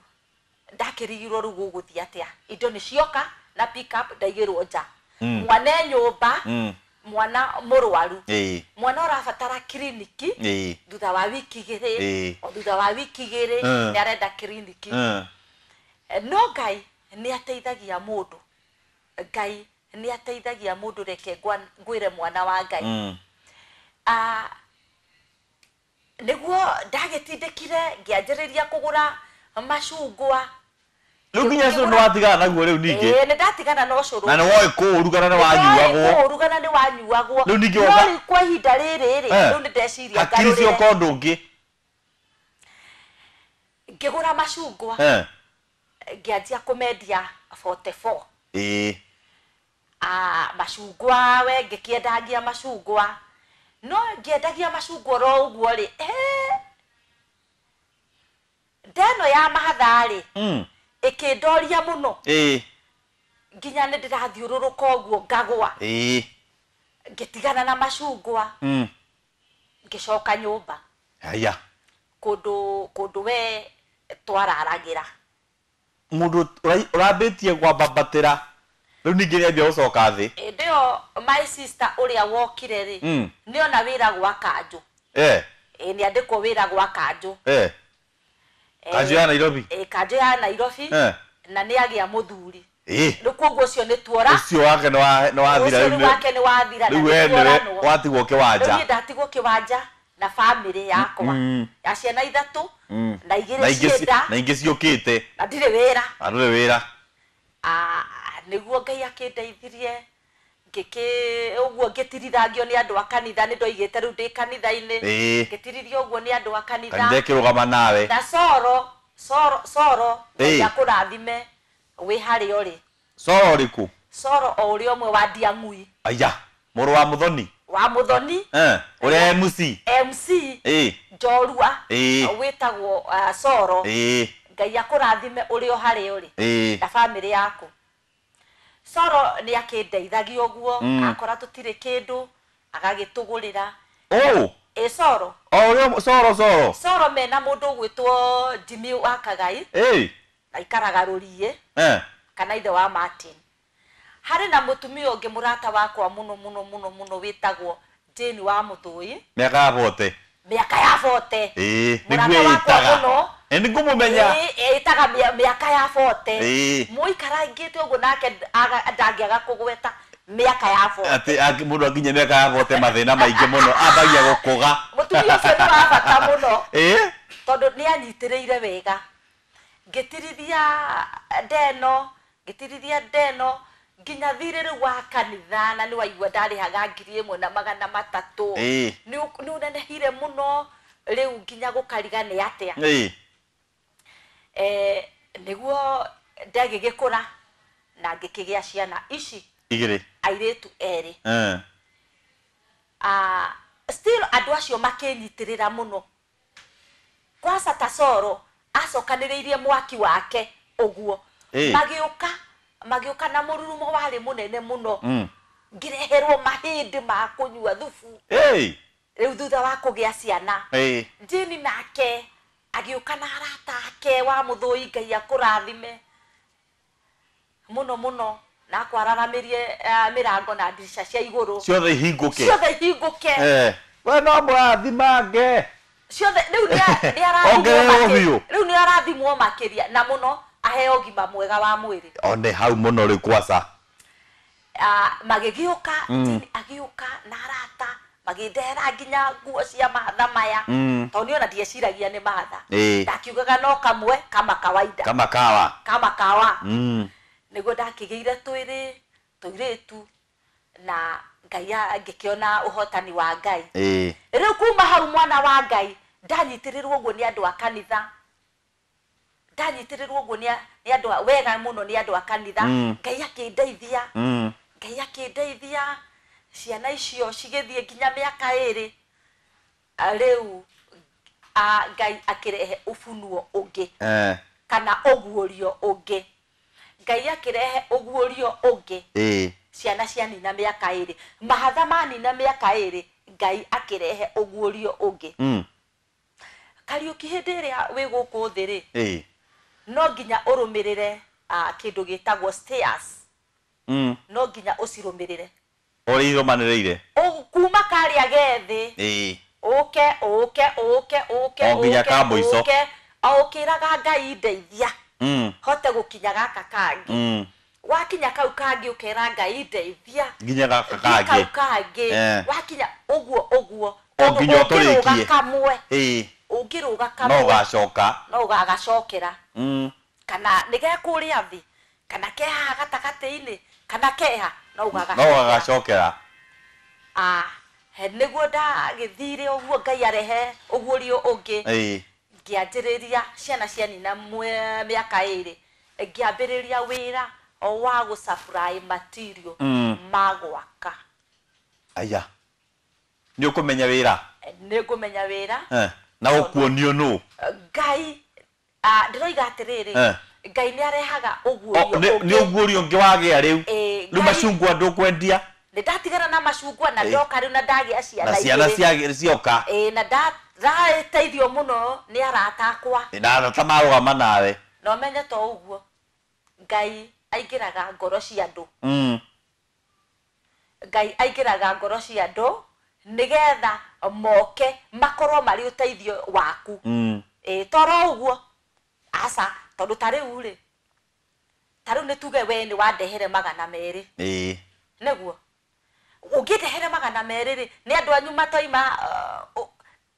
ndakĩrigirwo rĩu gũgũthiĩ atĩa, indo nĩ cioka na pick up, ndaigĩrwo nja, mwana e nyũmba, mwana mũrwaru, mwana ũrabatara kiriniki thutha wa wiki 2. O thutha wa wiki 2 nĩ arenda kiriniki. No Ngai nĩ ateithagia mũndũ, Ngai nĩ ateithagia mũndũ. Reke ngwĩre, mwana wa Ngai, nĩguo ndagĩtindĩkire ngĩanjĩrĩria kũgũra macungwa. Rĩu nginya cũrũ nĩ watigana naguo rĩu ningĩ? Ĩĩ, nĩ ndatigana na ũcũrũ. Na nĩ woĩ kũũruga na nĩ wanyuagwo. Kũũruga na nĩ wanyuagwo. Rĩu ningĩ No woka- rĩu kwa ihinda rĩrĩ rĩ, rĩu nĩ ndeciria hakiri ngarũrĩre. cioka ũndũ ũngĩ. Ngĩgũra macungwa, ngĩanjia kũmendia 44. Macungwa we, ngĩkĩendagia macungwa, no ngĩendagia macungwa oro ũguo rĩ, ndeno ya mahatha rĩ, ĩkĩndoria mũno nginya nĩ ndĩrathiũrũrũka ũguo ngagwa. Ngĩtigana na macungwa, ngĩcoka nyũmba. Haya. Kũndũ we twararagĩra. Mũndũ ũrambĩtie kwambambatĩra rĩu ningĩ nĩambia gũcoka thĩ. Hĩndĩ ĩyo my sister ũrĩa wokire rĩ, nĩona wĩra gwa kanjũ. Ĩ, nĩandĩkwo wĩra gwa kanjũ. Kanjũ ya Nairobi? Ĩ, kanjũ ya Nairobi. Na nĩ agĩa mũthuri. Ĩĩ. Rĩu koguo ũcio nĩ tuora. Ũcio wake nĩ wathira. Ũcio Rĩu rĩu wake nĩ wathira na rĩu nĩ we nĩwe tuoranwo. watigwo Rĩu kĩwanja. Niĩ ndatigwo kĩwanja. Na Na bamĩrĩ yakwa ya ciana ithatũ na igĩrĩ cienda na ingĩ ciũkĩte na ndirĩ wĩra. Na ndũrĩ wĩra. Nĩguo Ngai akĩndeithirie ngĩkĩ ũguo ngĩtirithangio nĩ andũ a kanitha, nĩ ndoigĩte rĩu ndĩ kanitha-inĩ, ngĩtiririo ũguo nĩ andũ a kanitha. Kanitha ĩkĩrũgama nawe. Na Coro, Coro, Coro, Ngai akũrathime wĩ harĩa ũrĩ. Coro ũrĩkũ? Coro o ũrĩa ũmwe wa Ndiang'ui. Aya, mũrũ wa Mũthoni. Wa Mũthoni. Ũrĩa MC. MC. Njorua. Wĩtagwo Coro. Ngai akũrathime ũrĩ o harĩa ũrĩ. Na bamĩrĩ yaku. Coro nĩ akĩndeithagia ũguo, akora tũtirĩ kĩndũ, agagĩtũgũrĩra. Coro. O ũrĩa Coro, Coro. Coro mena mũndũ ũgwĩtwo Jimmy wa Kagai. Aikaraga Rũriĩ. Kana ithe wa Martin. Harĩ na mũtumia ũngĩ mũrata wakwa mũno mũno mũno mũno wĩtagwo Jane wa Mũthũi. Mĩaka ya bote. Mĩaka ya bote. Nĩguo ĩtaga. Nĩngũmũmenya. Ĩtaga mĩaka ya bote. Mũikarangĩte ũguo nake ndangĩaga kũgweta mĩaka ya bote. Atĩ mũndũ akinye mĩaka ya bote mathĩna maingĩ mũno ambagia gũkũga. Mũtumia ũcio nĩ wa bata mũno. Tondũ nĩ anyitĩrĩire wega. Ngĩtirithia ndeno, ngĩtirithia ndeno nginya thirĩ rĩu wa kanitha, na nĩ waigua ndarĩhaga 1300. Nĩ ũnenehire mũno rĩu nginya gũkariga nĩ atĩa. Nĩguo ndagĩgĩkũra na ngĩkĩgĩa ciana ici igĩrĩ, airĩtu erĩ. Still andũ acio makĩnyitĩrĩra mũno. Kwanza ta Coro acokanĩrĩirie mwaki wake ũguo. Magĩũka na mũrurumo warĩ mũnene mũno. Ngĩreherwo mahĩndĩ ma kũnyua thubu. Rĩu thutha wa kũgĩa ciana. Jane nake agĩũka na arata ake wa Mũthũi, Ngai akũrathime mũno mũno, na akwararamĩrie mĩrango na ndirica cia igũrũ. Ciothe ihingũke. Ciothe ihingũke. We no mũrathimange. Ciothe rĩu nĩ rĩu nĩ arathimwo makĩria na mũno aheo ũgima mwega wa mwĩrĩ. One hau mũno rĩu kwaca. Magĩgĩũka, Jane agĩũka na arata magĩndehera nginya nguo cia mahatha maya. Tondũ niĩ ona ndieciragia nĩ mahatha. Ndakiugaga no kamwe kama kawaida. Kama kawa. Kama kawa. Nĩguo ndakĩgĩire twĩrĩ tũirĩtu na Ngai ngĩkĩona ũhotani wa Ngai. Rĩu kuma hau mwana wa Ngai ndanyitĩrĩrwo ũguo nĩ andũ a kanitha. Ndanyitĩrĩrwo ũguo nĩ andũ a wega mũno nĩ andũ a kanitha. Ngai akĩndeithia. Ngai akĩndeithia ciana icio cigĩthiĩ nginya mĩaka ĩrĩ. Rĩu Ngai akĩrehe ũbunuo ũngĩ. Kana ũguũrio ũngĩ. Ngai akĩrehe ũguũrio ũngĩ. Ciana cianina mĩaka ĩrĩ. Mahatha manina mĩaka ĩrĩ, Ngai akĩrehe ũguũrio ũngĩ. Kariũki hĩndĩ ĩrĩa wĩ gũkũ thĩ rĩ, no nginya ũrũmĩrĩre kĩndũ gĩtagwo stairs. No nginya ũcirũmĩrĩre. Ũrĩa irũmanĩrĩire. Kuma karĩa gethĩ. Ũke, ũke, ũke, ũke, O nginya ka mũico. Ũke, o ũkĩraga Ngai ndeithia. Hote gũkinya gaka kangĩ. Wakinya kau kangĩ ũkera Ngai ndeithia. Nginya gaka kangĩ. Kau kangĩ. Wakinya ũguo ũguo. O nginya ũtũrĩkie. Kamwe. Ũngĩrũga kamwe. No ũgacoka. No ũgagacokera. Kana nĩ gekũrĩa thĩ, kana ke haha gatagatĩ-inĩ, kana keha, no ũgagacokera. No ũgagacokera. Nĩguo ndagĩthire ũguo Ngai arehe ũguũrio ũngĩ. Ngĩanjĩrĩria ciana cianina mĩaka ĩrĩ, ngĩambĩrĩria wĩra wa gũ supply material ma gwaka. Aya. Nĩ ũkũmenya wĩra? Nĩ ngũmenya wĩra. Na ũkuonio nũ? Ngai, ndĩroiga atĩrĩrĩ, Ngai nĩ arehaga ũguũrio ũngĩ. Nĩ ũguũrio ũngĩ wagĩa rĩu. Rĩu macungwa ndũkwendia? Nĩ ndatigana na macungwa na ndoka rĩu na ndagĩa ciana Na ciana cioka. Na ndateithio mũno nĩ arata akwa. Na arata marũgama nawe. Na ũmenye to ũguo, Ngai aingĩraga ngoro cia andũ. Ngai aingĩraga ngoro cia andũ nĩgetha moke makorwo marĩ ũteithio waku. Toro ũguo aca, tondũ ta rĩu rĩ, ta rĩu nĩ tuge we nĩ wandehere 200. Nĩguo ũngĩndehere 200 rĩ, nĩ andũ anyu matoima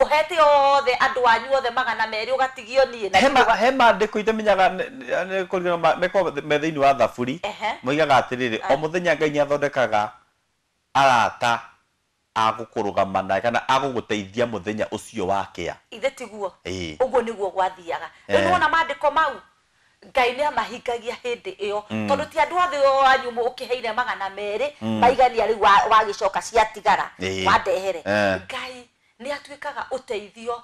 Ũhete othe andũ anyu othe 200 ũgatigio niĩ na He maandĩko itamenyaga nĩ kũringana mekoragwo me thĩinĩ wa Thaburi. Moigaga atĩrĩrĩ, o mũthenya Ngai nĩ athondekaga arata a gũkũrũgama nawe kana a gũgũteithia mũthenya ũcio wa kĩa. Ithe tiguo? Ũguo nĩguo gwathiaga. Rĩu nĩwona maandĩko mau Ngai nĩ amahingagia hĩndĩ ĩyo, tondũ ti andũ othe o anyu ũkĩheire 200 maigania rĩu wagĩcoka ciatigara wandehere. Ngai nĩ atuĩkaga ũteithio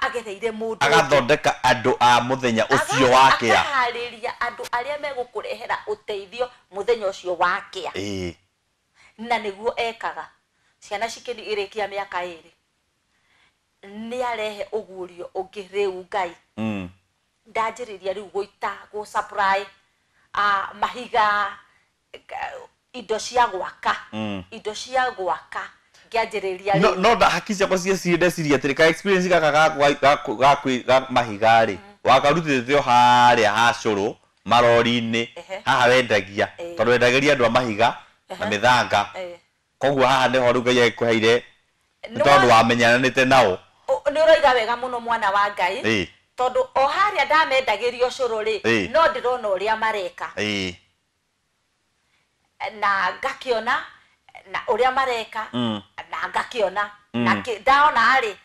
agereire mũndũ ũngĩ. Agathondeka andũ a mũthenya ũcio wa kĩa. Akaharĩria andũ arĩa megũkũrehera ũteithio mũthenya ũcio wa kĩa. Na nĩguo ekaga. Ciana cikĩrĩkia mĩaka 2 nĩ arehe ũguũrio ũngĩ rĩu Ngai. Ndanjĩrĩria rĩu gũita gũ supply mahiga, indo cia gwaka, indo cia gwaka ngĩanjĩrĩria No rĩu. No haki ciakwa cieciria ndeciria atĩrĩ, ka experience gaka ga mahiga rĩ, wakarutĩte o harĩa ha cũrũ marori-inĩ, haha wendagia, tondũ wendagĩria andũ a mahiga na mĩthanga. Koguo haha nĩho rĩu Ngai agĩkũheire nĩ tondũ wamenyanĩte nao. Nĩ ũroiga wega mũno mwana wa Ngai, tondũ o harĩa ndamendagĩrio cũrũ rĩ, no ndĩrona ũrĩa mareka. Na ngakĩona na ũrĩa mareka, na ngakĩona na ndaona rĩ,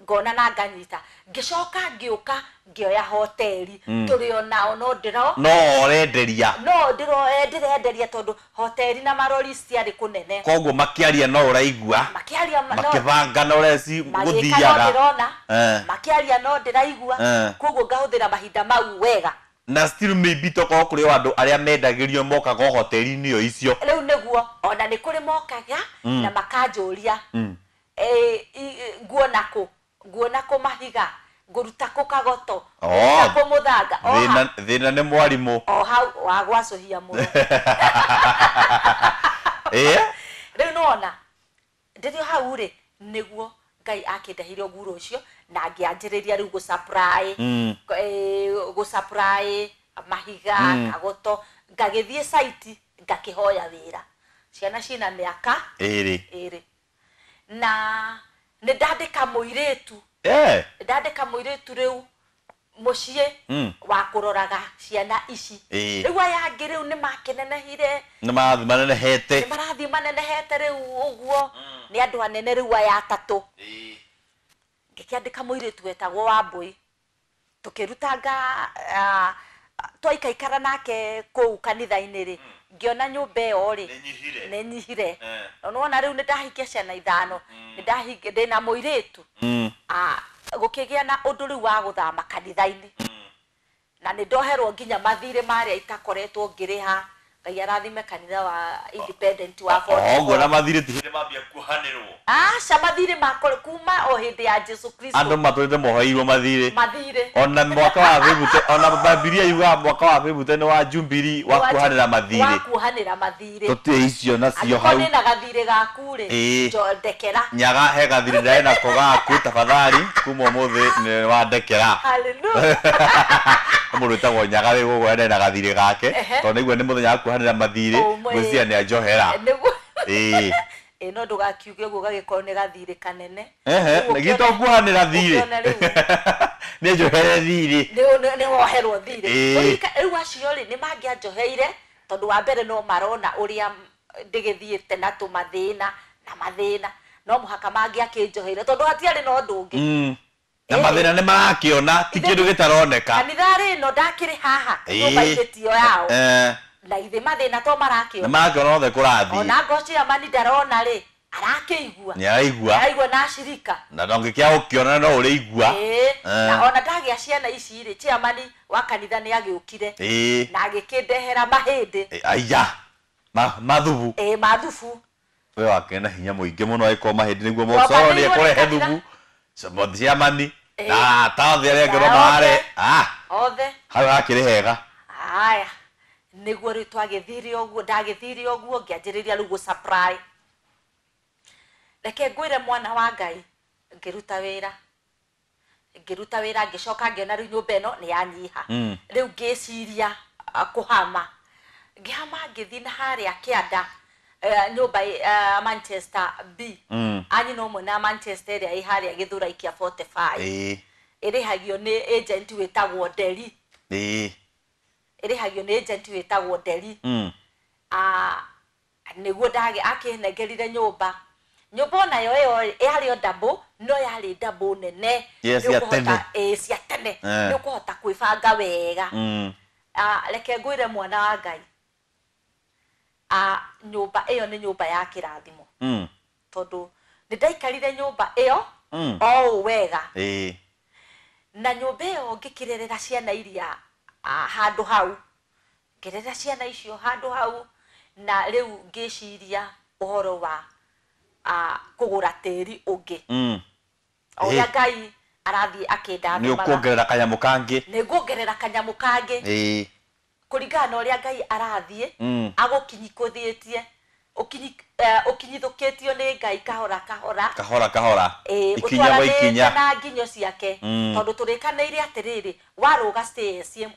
ngona na nganyita. Ngĩcoka ngĩũka ngĩoya hoteli, tũrĩ o nao no ndĩro no ũrenderia, no ndĩrenderia tondũ hoteli na marori ciarĩ kũnene. Koguo makĩaria no ũraigua, makĩaria makĩbanga no ũreci gũthiaga, no ndĩrona, makĩaria no ndĩraigua. Koguo ngahũthĩra mahinda mau wega. Na still maybe tokorwo kũrĩ o andũ arĩa mendagĩrio mokaga o hoteli-inĩ o icio. Rĩu nĩguo ona nĩ kũrĩ mokaga na makanjũria, nguona kũ, nguona kũ mahiga, ngũruta kũ kagoto, ngũruta kũ mũthanga. Thĩna nĩ mwarimũ. O hau wa gwacũhia mũno. Rĩu nĩwona ndĩrĩ o hau rĩ, nĩguo Ngai akĩndehire ũguro ũcio na ngĩanjĩrĩria rĩu gũ-supply, gũ-supply mahiga, kagoto, ngagĩthiĩ site ngakĩhoya wĩra. Ciana ciĩna mĩaka 2. Na nĩ ndandĩka mũirĩtu. Ndandĩka mũirĩtu rĩu mũciĩ wa kũroraga ciana ici. Rĩu aya angĩ rĩu nĩ makenenehire. Nĩ marathiĩ manenehete. Nĩ marathiĩ manenehete rĩu ũguo. Nĩ andũ anene rĩu aya atatũ. Ngĩkĩandĩka mũirĩtu wetagwo Wambũi. Tũkĩrutanga, twaikaikara nake kũu kanitha-inĩ rĩ, ngĩona nyũmba ĩyo rĩ, nĩ nyihire. No nĩwona rĩu nĩ ndahikia ciana 5, nĩ ndahikia ndĩna mũirĩtu. Gũkĩgĩa na ũndũ rĩu wa gũthama kanitha-inĩ. Na nĩ ndoherwo nginya mathirĩ marĩa itakoretwo ngĩrĩha. Ngai arathime kanitha wa Independent wa 44. Ũguo na mathirĩ ti hĩndĩ mambia kuohanĩrwo. Aca, mathirĩ makore kuma o hĩndĩ ya Jesu Kristo. Andũ matũrĩte moheirwo mathirĩ. Mathirĩ. Ona mwaka wa bĩbute, ona Bibilia yugaga mwaka wa bĩbute nĩ wa Jubilee wa kuohanĩra mathirĩ. Wa kuohanĩra mathirĩ. Tũtirĩ icio nacio hau. Angĩkorwo ndĩna gathirĩ gaku rĩ, ndekera. Nyaga he gathirĩ ndarĩ nako gaku, tafadhali, kuma ũmũthĩ nĩ wandekera. Hallelujah. Mũndũ wĩtagwo Nyaga wĩ gũkũ ena gathirĩ gake, tondũ nĩguo nĩ mũthenya wa kuohanĩra mathirĩ, ngwĩciria nĩ anjohera. Nĩguo. No ndũgakiuge ũguo gagĩkorwo nĩ gathirĩ kanene. Nĩ to kuohanĩra thirĩ. Nĩ njohere thirĩ. Nĩ woherwo thirĩ. Rĩu acio rĩ, nĩ mangĩanjoheire, tondũ wa mbere no marona ũrĩa ndĩgĩthiĩte na tũmathĩna na mathĩna. No mũhaka mangĩakĩnjoheire, tondũ hatiarĩ na ũndũ ũngĩ. Na mathĩna nĩ marakĩona, ti kĩndũ gĩtaroneka. Kanitha rĩ, no ndakĩrĩ haha, nyũmba-inĩ tiyo yao. Na ithe mathĩna to marakĩona. Nĩ marakĩona othe kũrathiĩ. Ona ngoci ya mani ndarona rĩ, arakĩigua. Nĩ araigua. Araigua na acirika. Na ndongĩkĩaga gũkĩona no ũrĩigua. Na ona ndagĩa ciana ici rĩ, chairman wa kanitha nĩ agĩũkire. Na agĩkĩndehera mahĩndĩ. Aya. Mathubu. Mathubu. We wakĩrĩ na hinya mũingĩ mũno agĩkorwo mahĩndĩ nĩguo mũcoro nĩ ekũrehe thubu. Chairman na arata othe arĩa angĩ no marare. Othe. Hau hakĩrĩ hega. Haya. Nĩguo rĩu twagĩthire ũguo, ndagĩthire ũguo, ngĩanjĩrĩria rĩu gũ-supply. Reke ngwĩre mwana wa Ngai, ngĩruta wĩra. Ngĩruta wĩra, ngĩcoka ngĩona rĩu nyũmba ĩno nĩ yanyiha. Rĩu ngĩciria kũhama. Ngĩhama ngĩthiĩ na harĩa kĩanda, Nyũmba Manchester B. Anyina ũmwe na Manchester ĩrĩa ĩ harĩa Gĩthũrai kĩa 45. Ĩrĩhagio nĩ agent wĩtagwo Nderi. Ĩrĩhagio nĩ agent wĩtagwo Nderi. Nĩguo ndagĩ akĩnengerire nyũmba. Nyũmba onayo ĩyo yarĩ o double, no yarĩ double nene. Yes, Nĩ cia ũkũhota- tene. Ĩĩ, cia tene. Nĩ ũkũhota kwĩbanga wega. Reke ngwĩre mwana wa Ngai, nyũmba ĩyo nĩ nyũmba ya kĩrathimo. Tondũ nĩ ndaikarire nyũmba ĩyo o ũũ wega. Na nyũmba ĩyo ngĩkĩrerera ciana iria handũ hau, ngĩrerera ciana icio handũ hau, na rĩu ngĩciria ũhoro wa kũgũra tĩri ũngĩ. O ũrĩa Ngai arathiĩ akĩndathimaga. Nĩ ũkuongerera kanyamũ kangĩ. Nĩ nguongerera kanyamũ kangĩ. Kũringana na ũrĩa Ngai arathiĩ, agũkinyithũkĩtie, ũkinyithũkĩtio nĩ Ngai kahora kahora. Kahora kahora. Ikinya gwa Ũtwaranĩte ikinya. na nginyo ciake. Tondũ tũrĩkanĩire atĩrĩrĩ, warũga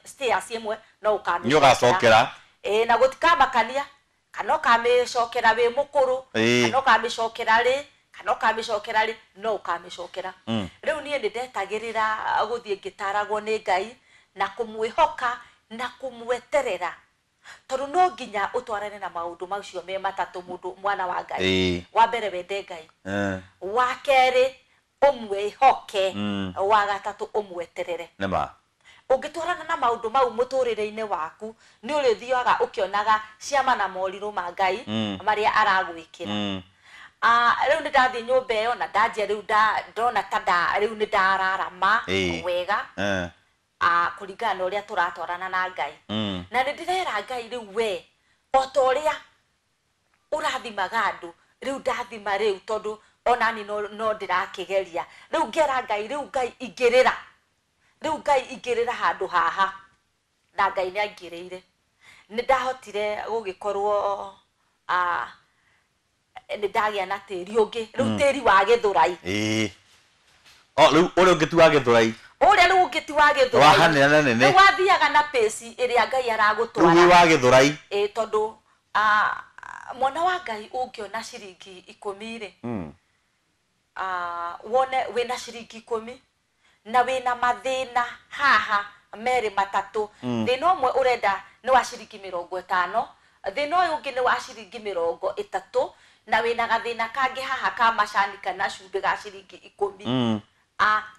stairs ĩmwe no ũkamĩcokera. Nĩ ũgacokera. Na gũtikamakania kana ũkamĩcokera wĩ mũkũrũ, kana ũkamĩcokera rĩ, kana ũkamĩcokera rĩ, no ũkamĩcokera. Rĩu niĩ nĩ ndetagĩrĩra gũthiĩ ngĩtaragwo nĩ Ngai na kũmwĩhoka na kũmweterera. Tondũ no nginya ũtwarane na maũndũ macio me matatũ mũndũ mwana wa Ngai. Wa mbere wende Ngai. Wa kerĩ ũmwĩhoke. Wa gatatũ ũmweterere. Nĩma. Ũngĩtwarana na maũndũ mau mũtũrĩre-inĩ waku, nĩ ũrĩthiaga ũkĩonaga ciama na morirũ ma Ngai marĩa aragwĩkĩra. Rĩu nĩ ndathiĩ nyũmba ĩyo na ndanjia rĩu ndona ta rĩu nĩ ndararama wega. Kũringana na ũrĩa tũratwarana na Ngai. Na nĩ ndĩrera Ngai rĩu we, o ta ũrĩa ũrathimaga andũ, rĩu ndathima rĩu tondũ onani no ndĩrakĩgeria. Rĩu ngera Ngai, rĩu Ngai ingĩrĩra. Rĩu Ngai ingĩrĩra handũ haha. Na Ngai nĩ aingĩrĩire. Nĩ ndahotire gũgĩkorwo, nĩ ndagĩa na tĩri ũngĩ. Rĩu tĩri wa Gĩthũrai. O, rĩu ũrĩa ũngĩ ti wa Gĩthũrai. Ũrĩa rĩu ũngĩ ti wa Gĩthũrai. Wahanĩra na nene. Rĩu wathiaga na pace ĩrĩa Ngai aragũtwara. Rĩu wĩ wa Gĩthũrai. Tondũ, mwana wa Ngai ũngĩona ciringi ikũmi rĩ, wone wĩna ciringi ikũmi na wĩna mathĩna haha merĩ matatũ. Thĩna ũmwe ũrenda nĩ wa ciringi mĩrongo ĩtano, thĩna ũyũ ũngĩ nĩ wa ciringi mĩrongo ĩtatũ, na wĩna gathĩna kangĩ haha ka macani kana cumbĩ ga ciringi ikũmi.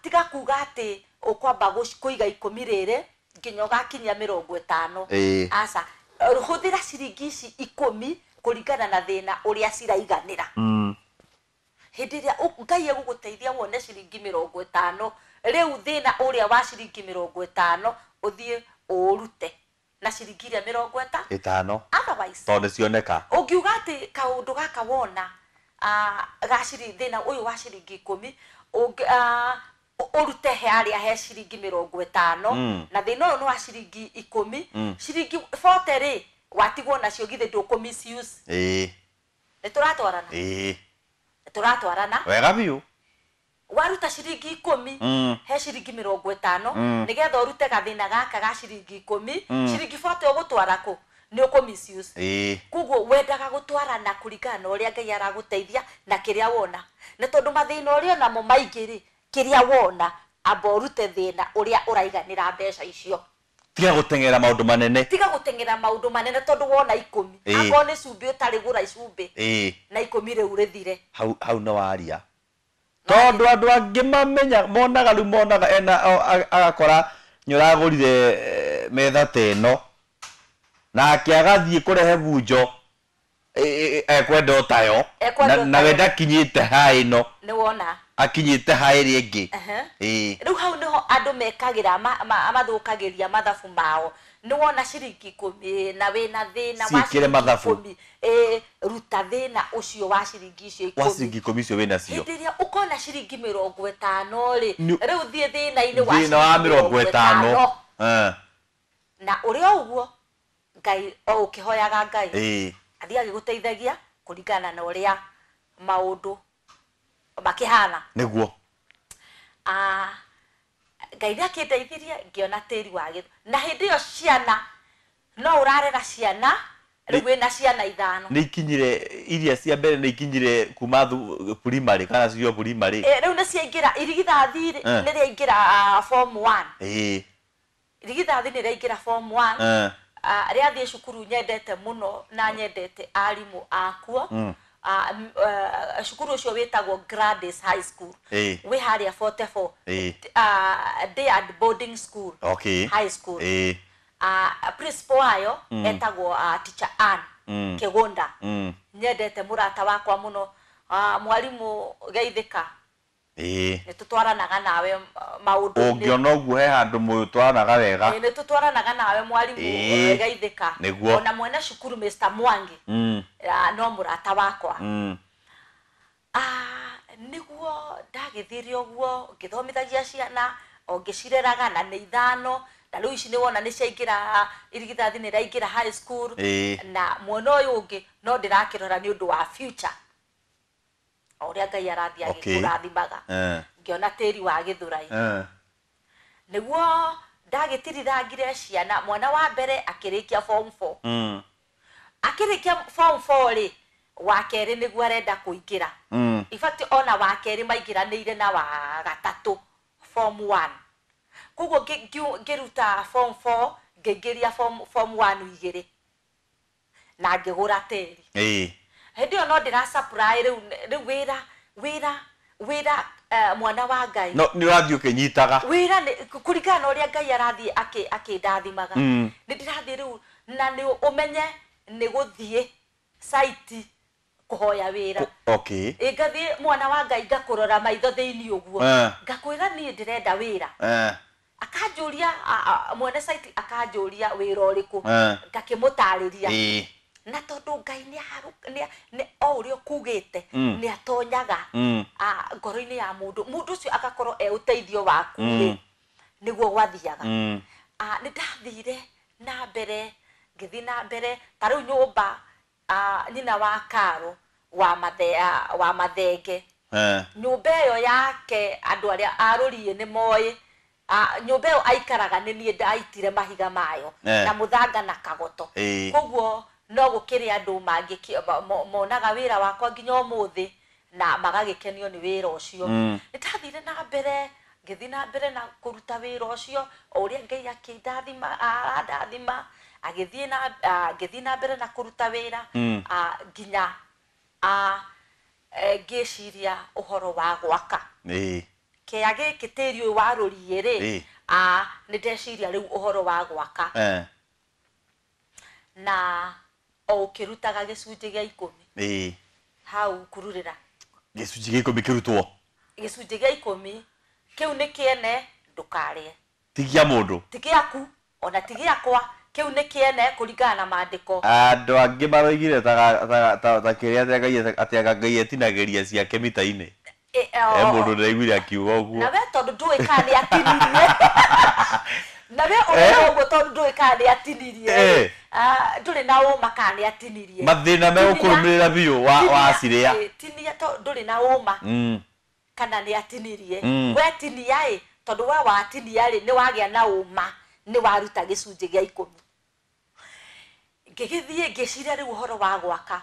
Tiga kuga atĩ ũkwamba kũiga ikũmi rĩrĩ nginya ũgakinyia mĩrongo ĩtano. Aca, hũthĩra ciringi ici ikũmi kũringana na thĩna ũrĩa ciraiganĩra. Hĩndĩ ĩrĩa Ngai egũgũteithia wone ciringi mĩrongo ĩtano, rĩu thĩna ũrĩa wa ciringi mĩrongo ĩtano ũthiĩ ũũrute na ciringi iria mĩrongo ĩtano. Otherwise, tondũ nĩcioneka. Ũngiuga atĩ kaũndũ gaka wona, ga thĩna ũyũ wa ciringi ikũmi, ũrute he harĩa he ciringi mĩrongo ĩtano, na thĩna ũyũ nĩ wa ciringi ikũmi, ciringi 40 rĩ, watigwo nacio githĩ ndũkũ misuse. Nĩ tũratwarana? Nĩ tũratwarana? Wega biũ. Waruta ciringi ikũmi, he ciringi mĩrongo ĩtano, nĩgetha ũrute gathĩna gaka ga ciringi ikũmi, ciringi 40 ũgũtwara kũ? Nĩ ũkũ misuse. Koguo wendaga gũtwarana kũringana na ũrĩa Ngai aragũteithia na kĩrĩa wona. Na tondũ mathĩna ũrĩa onamo maingĩ rĩ, kĩrĩa wona, amba ũrute thĩna ũrĩa ũraiganĩra mbeca icio. Tiga gũteng'era maũndũ manene. Tiga gũteng'era maũndũ manene tondũ wona ikũmi. Akorwo nĩ cumbĩ ũtarĩ gũra cumbĩ. Na ikũmi rĩu rĩthire. Hau, hau nĩ waria. Tondũ andũ angĩ mamenya, monaga rĩu monaga ena, agakora nĩ ũragũrire metha ta ĩno. Nake agathiĩ kũrehe bunjo, ekwenda o tayo. Ekwenda o Na we tayo. ndakinyĩte ha ĩno. Nĩ wona. Akinyĩte ha ĩrĩa ĩngĩ. Rĩu hau nĩho andũ mekagĩra, mathũkagĩria mathabu mao. Nĩ wona ciringi ikũmi na wĩna thĩna wa Ciĩkĩre ciringi mathabu. ikũmi. Ruta thĩna ũcio wa ciringi icio Wa ikũmi. ciringi ikũmi icio wĩna cio. Hĩndĩ ĩrĩa ũkona ciringi mĩrongo ĩtano rĩ, Nĩ rĩu thiĩ thĩna-inĩ wa Thĩna wa ciringi mĩrongo mĩrongo ĩtano. ĩtano. Na ũrĩ o ũguo, Ngai o ũkĩhoyaga Ngai. Athiĩ agĩgũteithagia kũringana na ũrĩa maũndũ makĩhana. Nĩguo. Ngai nĩ akĩndeithirie ngĩona tĩri wa gĩthũ. Na hĩndĩ ĩyo ciana, no ũrarera ciana Rĩu wĩna ciana ithano. Nĩ ikinyire iria cia mbere, nĩ ikinyire kuma primary kana cio primary? Rĩu nĩ ciaingĩra irigithathi rĩ, nĩ rĩaingĩra form 1. Irigithathi nĩ rĩaingĩra form 1. Rĩathiĩ cukuru nyendete mũno na nyendete arimũ akuo. Cukuru ũcio wĩtagwo Gladys High School. Wĩ harĩa 44. Day and boarding school. High school. Principal wayo etagwo Teacher Ann Kĩgũnda. Nyendete mũrata wakwa mũno, mwarimũ Geithĩka. Nĩ tũtwaranaga nawe maũndũ-inĩ. Ũngĩona ũguo he handũ mũtwaranaga wega. Nĩ tũtwaranaga nawe mwarimũ Geithĩka. Nĩguo. Ona mwene cukuru Mr. Mwangi. No mũrata wakwa. Nĩguo ndagĩthire ũguo ngĩthomithagia ciana o ngĩcireraga, na nĩ ithano, na rĩu ici nĩ wona nĩ ciaingĩra, irigithathi nĩ rĩaingĩra high school. Na mwena ũyũ ũngĩ no ndĩrakĩrora nĩ ũndũ wa future, o ũrĩa Ngai arathiĩ agĩkũrathimaga. Ngĩona tĩri wa Gĩthũrai. Nĩguo ndagĩtirithangire ciana, mwana wa mbere akĩrĩkia form 4. Akĩrĩkia form 4 rĩ, wa kerĩ nĩguo arenda kũingĩra. In fact, ona wa kerĩ maingĩranĩire na wa gatatũ form 1, koguo ngĩruta form 4 ngĩingĩria form 1 igĩrĩ na ngĩgũra tĩri. Hĩndĩ ĩyo no ndĩra supply rĩu wĩra mwana wa Ngai. No nĩ ũrathiĩ ũkĩnyitaga. Wĩra nĩ kũringana na ũrĩa Ngai arathiĩ akĩndathimaga. Nĩ ndĩrathiĩ rĩu, na nĩ ũmenye nĩ gũthiĩ site kũhoya wĩra. Ĩ ngathiĩ, mwana wa Ngai, ngakũrora maitho thĩinĩ ũguo. Ngakwĩra niĩ ndĩrenda wĩra. Akanjũria, mwene site akanjũria wĩra ũrĩkũ. Ngakĩmũtarĩria. Na tondũ Ngai nĩ o ũrĩa ũkugĩte nĩ atonyaga ngoro-inĩ ya mũndũ, mũndũ ũcio agakorwo e ũteithio waku rĩ, nĩguo gwathiaga. Nĩ ndathire na mbere, ngĩthiĩ na mbere, ta rĩu nyũmba, nyina wa Karo wa Mathenge, nyũmba ĩyo yake andũ arĩa arũriĩ nĩ moĩ. Nyũmba ĩyo aikaraga nĩ niĩ ndaitire mahiga mayo na mũthanga na kagoto. Koguo no gũkĩrĩ andũ monaga wĩra wakwa nginya ũmũthĩ na magagĩkenio nĩ wĩra ũcio. Nĩ ndathire na mbere, ngĩthiĩ na mbere na kũruta wĩra ũcio o ũrĩa Ngai akĩndathima, arandathima, agĩthiĩ na ngĩthiĩ na mbere na kũruta wĩra nginya ngĩciria ũhoro wa gwaka kĩa gĩkĩ tĩri ũyũ wa rũriĩ rĩ. Nĩ ndeciria rĩu ũhoro wa gwaka na o ũkĩrutaga gĩcunjĩ gĩa 10. Hau kururĩra. Gĩcunjĩ gĩa 10 kĩrutwo. Gĩcunjĩ gĩa 10 kĩu nĩ kĩene, ndũkarĩe. Ti gĩa mũndũ. Ti gĩaku ona ti gĩakwa, kĩu nĩ kĩene kũringana na maandĩko. Andũ angĩ maroigire ta kĩrĩa atĩ Ngai etinagĩria ciake mita-inĩ. He mũndũ ndĩraiguire akiuga ũguo. Na we tondũ ndũĩ kana nĩ atinirie, na we ũrauga ũguo tondũ ndũĩ kana nĩ atinirie. Ndũrĩ na ũma kana nĩ atinirie. Mathĩna megũkũrũmĩrĩra biũ wacirĩa. Tinia to ndũrĩ na ũma kana nĩ atinirie. We tinia ĩ, tondũ we watinia rĩ, nĩ wagĩa na ũma nĩ waruta gĩcunjĩ gĩa 10. Ngĩgĩthiĩ ngĩciria rĩu ũhoro wa gwaka,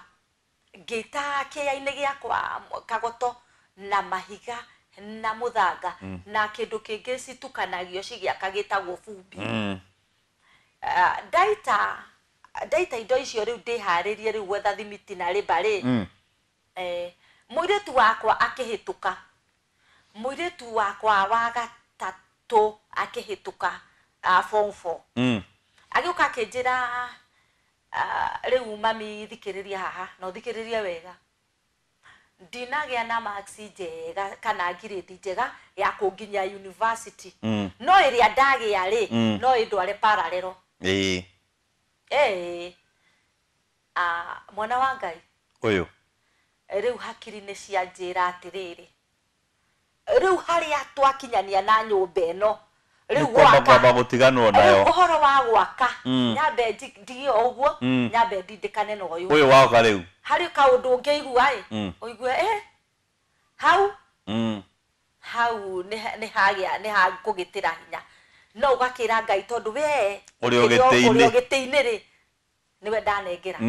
ngĩta kĩea-inĩ gĩakwa kagoto na mahiga na mũthanga na kĩndũ kĩngĩ citukanagio cigĩaka gĩtagwo bumbi. Ndaita indo icio rĩu ndĩharĩrie rĩu gwetha thimiti na rĩmba rĩ, mũirĩtu wakwa akĩhĩtũka, mũirĩtu wakwa wa gatatũ akĩhĩtũka form 4. Agĩũka akĩnjĩra, rĩu mami, thikĩrĩria haha na ũthikĩrĩrie wega, ndinagĩa na marks njega kana grade njega ya kũnginyia university, no ĩrĩa ndagĩa rĩ, no ĩndware parallel. Mwana wa Ngai ũyũ rĩu hakiri nĩ cianjĩra atĩrĩrĩ, rĩu harĩa twakinyania na nyũmba ĩno rĩu kwamba kwamba gũtiganwo rĩu nayo. Ũhoro wa gwaka nyambe ndige o ũguo, nyambe ndindĩkane na ũyũ. Ũyũ waka rĩu. Harĩ kaũndũ ũngĩigua ĩ, ũigue hau hau nĩ hagĩa nĩ hakũgĩtĩra hinya, no ũgakĩra Ngai tondũ we ũrĩ o gĩtĩ-inĩ. Ũrĩ o gĩtĩ-inĩ rĩ. Nĩwe ndanengera.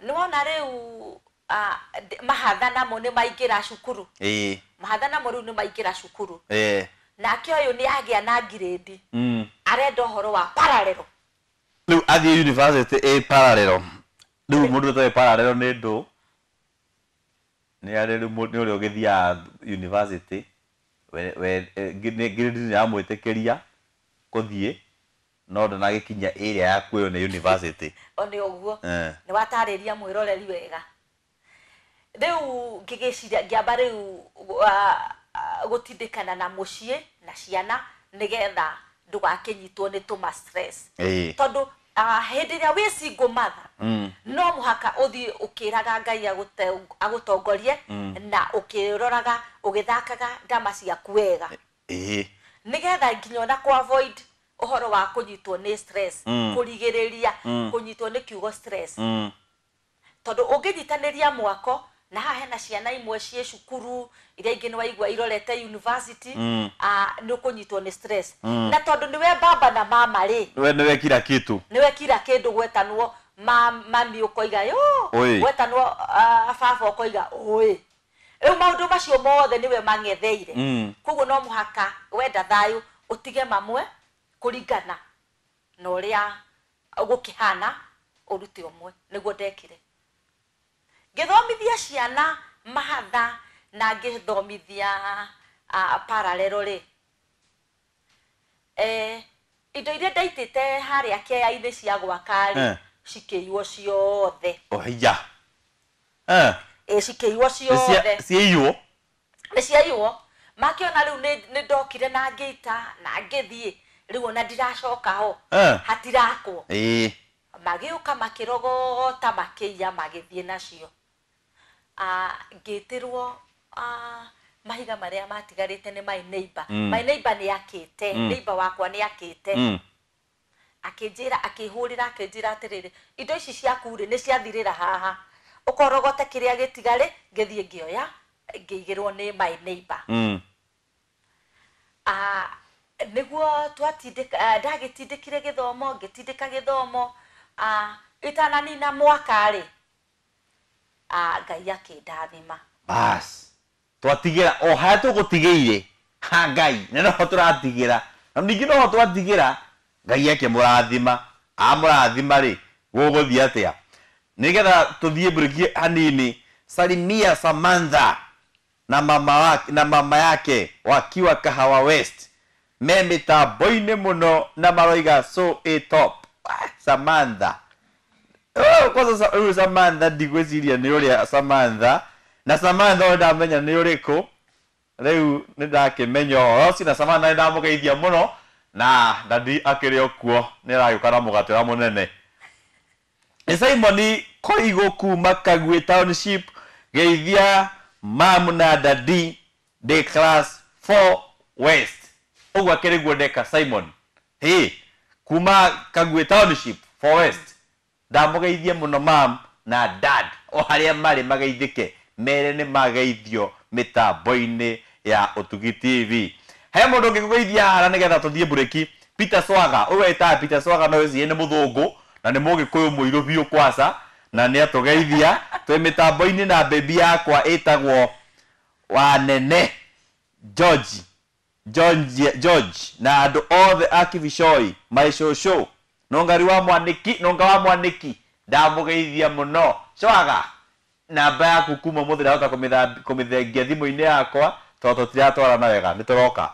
Nĩwona rĩu mahatha namo nĩ maingĩra cukuru. Mahatha namo rĩu nĩ maingĩra cukuru. Nake ũyũ nĩ agĩa na ngirĩndi. Arenda ũhoro wa parallel. Rĩu athiĩ university ĩ parallel. Rĩu mũndũ ũtoĩ parallel nĩ ndũ. Nĩ arĩ rĩu nĩ ũrĩa ũgĩthiaga university ngirĩndi nĩ yamwĩtĩkĩria kũthiĩ no ndanagĩkinya ĩrĩa ya kuoywo nĩ university. O nĩ ũguo. Nĩ watarĩria mwĩroreri wega. Rĩu ngĩgĩciria ngĩamba rĩu gũtindĩkana na mũciĩ na ciana nĩgetha ndũgakĩnyitwo nĩ tũma stress. Tondũ hĩndĩ ĩrĩa wĩ single mother no mũhaka ũthiĩ ũkĩraga Ngai agũtongorie na ũkĩroraga ũgĩthakaga ndama ciaku wega. Nĩgetha nginya ona kũ avoid ũhoro wa kũnyitwo nĩ stress, kũrigĩrĩria kũnyitwo nĩ kiugo stress. Tondũ ũngĩnyitanĩria mwako na haha hena ciana imwe ciĩ cukuru iria ingĩ nĩ waigua irorete university, nĩ ũkũnyitwo nĩ stress. Na tondũ nĩwe baba na mama rĩ, we nĩwe kila kitu, nĩwe kila kĩndũ gwetanwo mami ũkoiga yo, gwetanwo baba ũkoiga ũĩ. Rĩu maũndũ macio mothe nĩwe mang'etheire. Koguo no mũhaka wenda thayũ ũtige mamwe kũringana na ũrĩa gũkĩhana ũrute ũmwe. Nĩguo ndekire. Ngĩthomithia ciana mahatha na ngĩthomithia parallel rĩ, indo iria ndaitĩte harĩa kĩaya-inĩ cia gwaka rĩ, cikĩiywo ciothe. Ohiya. Cikĩiywo ciothe. Ciaiywo? Nĩ ciaiywo. Makĩona rĩu nĩ ndokire na ngĩita na ngĩthiĩ, rĩu ona ndiracoka ho. Hatirakwo. Magĩũka makĩrogota makĩiya magĩthiĩ nacio. Ngĩtĩrwo mahiga marĩa matigarĩte nĩ my neighbor. My neighbor nĩ akĩte, neighbor wakwa nĩ akĩte. Akĩnjĩra, akĩhũrĩra, akĩnjĩra atĩrĩrĩ, indo ici ciaku rĩ nĩ ciathirĩra haha. Ũkorogote kĩrĩa gĩtigarĩ, ngĩthiĩ ngĩoya, ngĩigĩrwo nĩ my neighbor. Nĩguo twatindĩka, ndagĩtindĩkire gĩthomo, ngĩtindĩka gĩthomo, itananina mwaka rĩ, Ngai akĩndathima. Bas, twatigĩra o harĩa tũgũtigĩire ha Ngai, na noho tũratigĩra, na ningĩ noho twatigĩra Ngai akĩmũrathima. Amũrathima rĩ, gũgũthiĩ atĩa? Nĩgetha tũthiĩ mburĩki hanini. Salimia Samantha na mama yake wakiwa Kahawa West me mĩtambo-inĩ mũno na maroiga so a top. Samantha. Kwanza rĩu Samantha ndigwĩciria nĩ ũrĩa Samantha na Samantha ũyũ ndamenya nĩ ũrĩkũ. Rĩu nĩ ndakĩmenya ũhoro ũcio na Samantha nĩ ndamũgeithia mũno na dadi akĩrĩ o kuo nĩ aragĩũka na mũgate ũrĩa mũnene. Nĩ Simon Koigo kuma Kagwe Township, geithia mamu na dadi ndĩ class 4 West. Ũguo akĩrĩ guo ndeka Simon. Hey, kuma Kagwe Township 4 West. Ndamũgeithia mũno mam na dad o harĩa marĩ mageithĩke, mere nĩ mageithio mĩtambo-inĩ ya Ũtugi TV. He mũndũ ũngĩkũgeithia haha nĩgetha tũthiĩ mburĩki. Peter Swaga, ũyũ wetaga Peter Swaga no wĩcirie nĩ mũthũngũ na nĩ mũgĩkũyũ mũirũ biũ kwaca na nĩ atũgeithia. Twĩ mĩtambo-inĩ na baby yakwa ĩtagwo Wanene George, George na andũ othe a Kibicoi my shosho nongari wa mwaniki, nonga wa mwaniki ndamũgeithia mũno. Swaga, namba yaku kuma ũmũthĩ ndahota kũmĩthengia thimũ-inĩ yakwa tondũ tũtiratwarana wega, nĩ tũroka.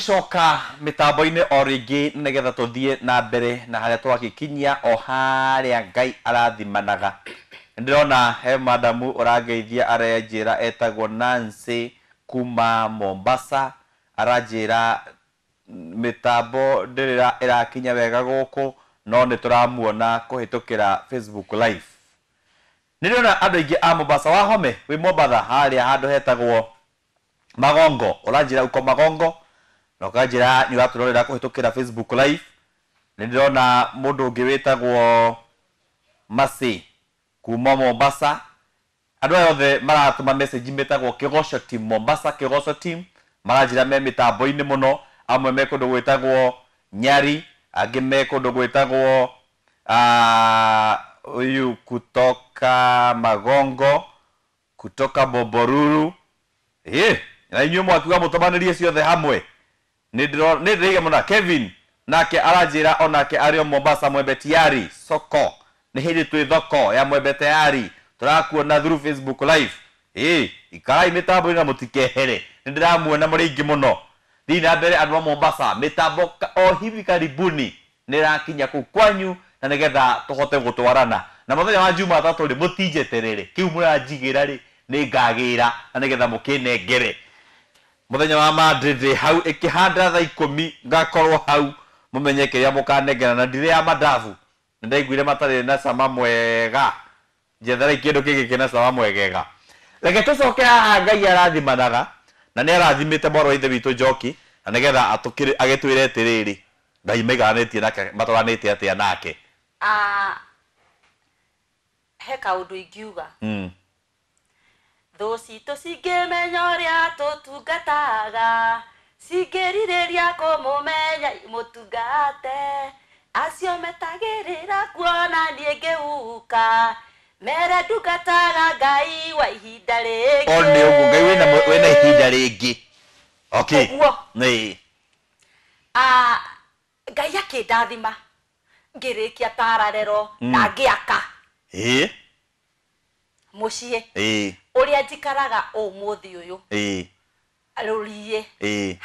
Twagĩcoka mĩtambo-inĩ o rĩngĩ nĩgetha tũthiĩ na mbere na harĩa twagĩkinyia o harĩa Ngai arathimanaga. Ndĩrona he madamu ũrangeithia arenjĩra etagwo Nancy kuma Mombasa, aranjĩra mĩtambo ndĩrĩ ĩrakinya wega gũkũ no nĩ tũramuona kũhĩtũkĩra Facebook Live. Nĩ ndĩrona andũ aingĩ a Mombasa. Wahome wĩ Mombatha harĩa handũ hetagwo Magongo, ũranjĩra uko Magongo na ũkanjĩra nĩ ũratũrorera kũhĩtũkĩra Facebook Live. Nĩ ndĩrona mũndũ ũngĩ wĩtagwo Masi kuma Mombasa. Andũ aya othe maratũma message metagwo Kĩgoco Team Mombasa, Kĩgoco Team, maranjĩra me mĩtambo-inĩ mũno. Amwe me kũndũ gwĩtagwo Nyari, angĩ me kũndũ gwĩtagwo huyu kutoka Magongo, kutoka Bombolulu. Na inyuĩ mwakiuga mũtũmanĩrie ciothe hamwe. Nĩ ndĩraiga mũno. Kevin nake aranjĩra onake arĩ o Mombasa, Mwembe Tayari soko. Nĩ hĩndĩ twĩ thoko ya Mwembe Tayari, tũrakuona through Facebook Live. Ikarai mĩtambo-inĩ na mũtikehere, nĩ ndĩramuona mũrĩ aingĩ mũno. Thiĩ na mbere andũ a Mombasa, mĩtambo o hivi karibuni nĩ ĩrakinya kũu kwanyu na nĩgetha tũhote gũtwarana. Na mũthenya wa Jumatatũ rĩ, mũtinjeterere, kĩu mũranjigĩra rĩ, nĩ ngagĩra na nĩgetha mũkĩnengere. Mũthenya wa Monday ndĩ hau ĩkĩhanda thaa 10 ngakorwo hau, mũmenye kĩrĩa mũkanengera. Na ndirĩ ya mandabu, nĩ ndaiguire matarĩ na cama mwega. Njetherai kĩndũ kĩngĩ kĩna cama mwegega. Reke tũcoke haha Ngai arathimanaga na nĩ arathimĩte mwarĩ wa ithe witũ Njoki na nĩgetha agĩtwĩre atĩrĩrĩ, Ngai maiganĩtie nake, matwaranĩte atĩa nake. He kaũndũ ingiuga. Thũ citũ cingĩmenya ũrĩa tũtungataga, cingĩrirĩria kũmũmenya imũtungate, acio metagĩrĩra kuona niĩ ngĩhuka, mere ndungataga Ngai wa ihinda rĩngĩ. O nĩ ũguo, Ngai wĩna ihinda rĩngĩ. Okay. Ũguo. Nĩ. Ngai akĩndathima ngĩrĩkia pararero na ngĩaka mũciĩ ũrĩa njikaraga ũmũthĩ ũyũ. Rũriĩ.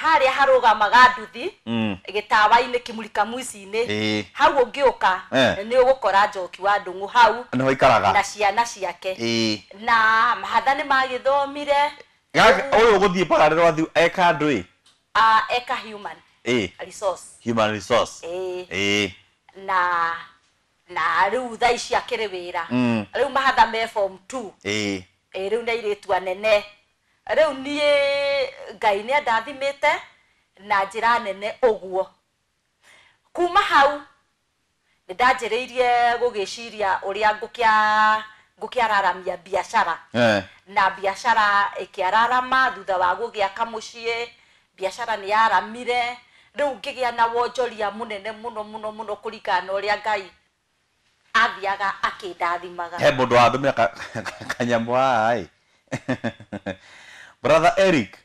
Harĩa harũgamaga nduthi gĩtawa-inĩ kĩmurika mwici-inĩ. Hau ũngĩũka nĩ ũgũkora Njoki wa Ndung'u hau. Nĩho ikaraga. Na ciana ciake. Na mahatha nĩ magĩthomire. Ũyũ ũgũthiĩ pararero athiĩ eka andũ ĩ? Eka human resource. Human resource. Na rĩu thaa ici akĩrĩ wĩra. Rĩu mahatha me form 2. Rĩu nĩ airĩtu anene. Rĩu niĩ Ngai nĩ andathimĩte na njĩra nene ũguo. Kuma hau nĩ ndanjĩrĩirie gũgĩciria ũrĩa ngũkĩararamia biacara. Na biacara ĩkĩararama thutha wa gũgĩaka mũciĩ, biacara nĩ yaramire. Rĩu ngĩgĩa na wonjoria mũnene mũno mũno mũno kũringana na ũrĩa Ngai athiaga akĩndathimaga. He mũndũ wandũmĩra kanyamũ haha ĩ. Brother Eric,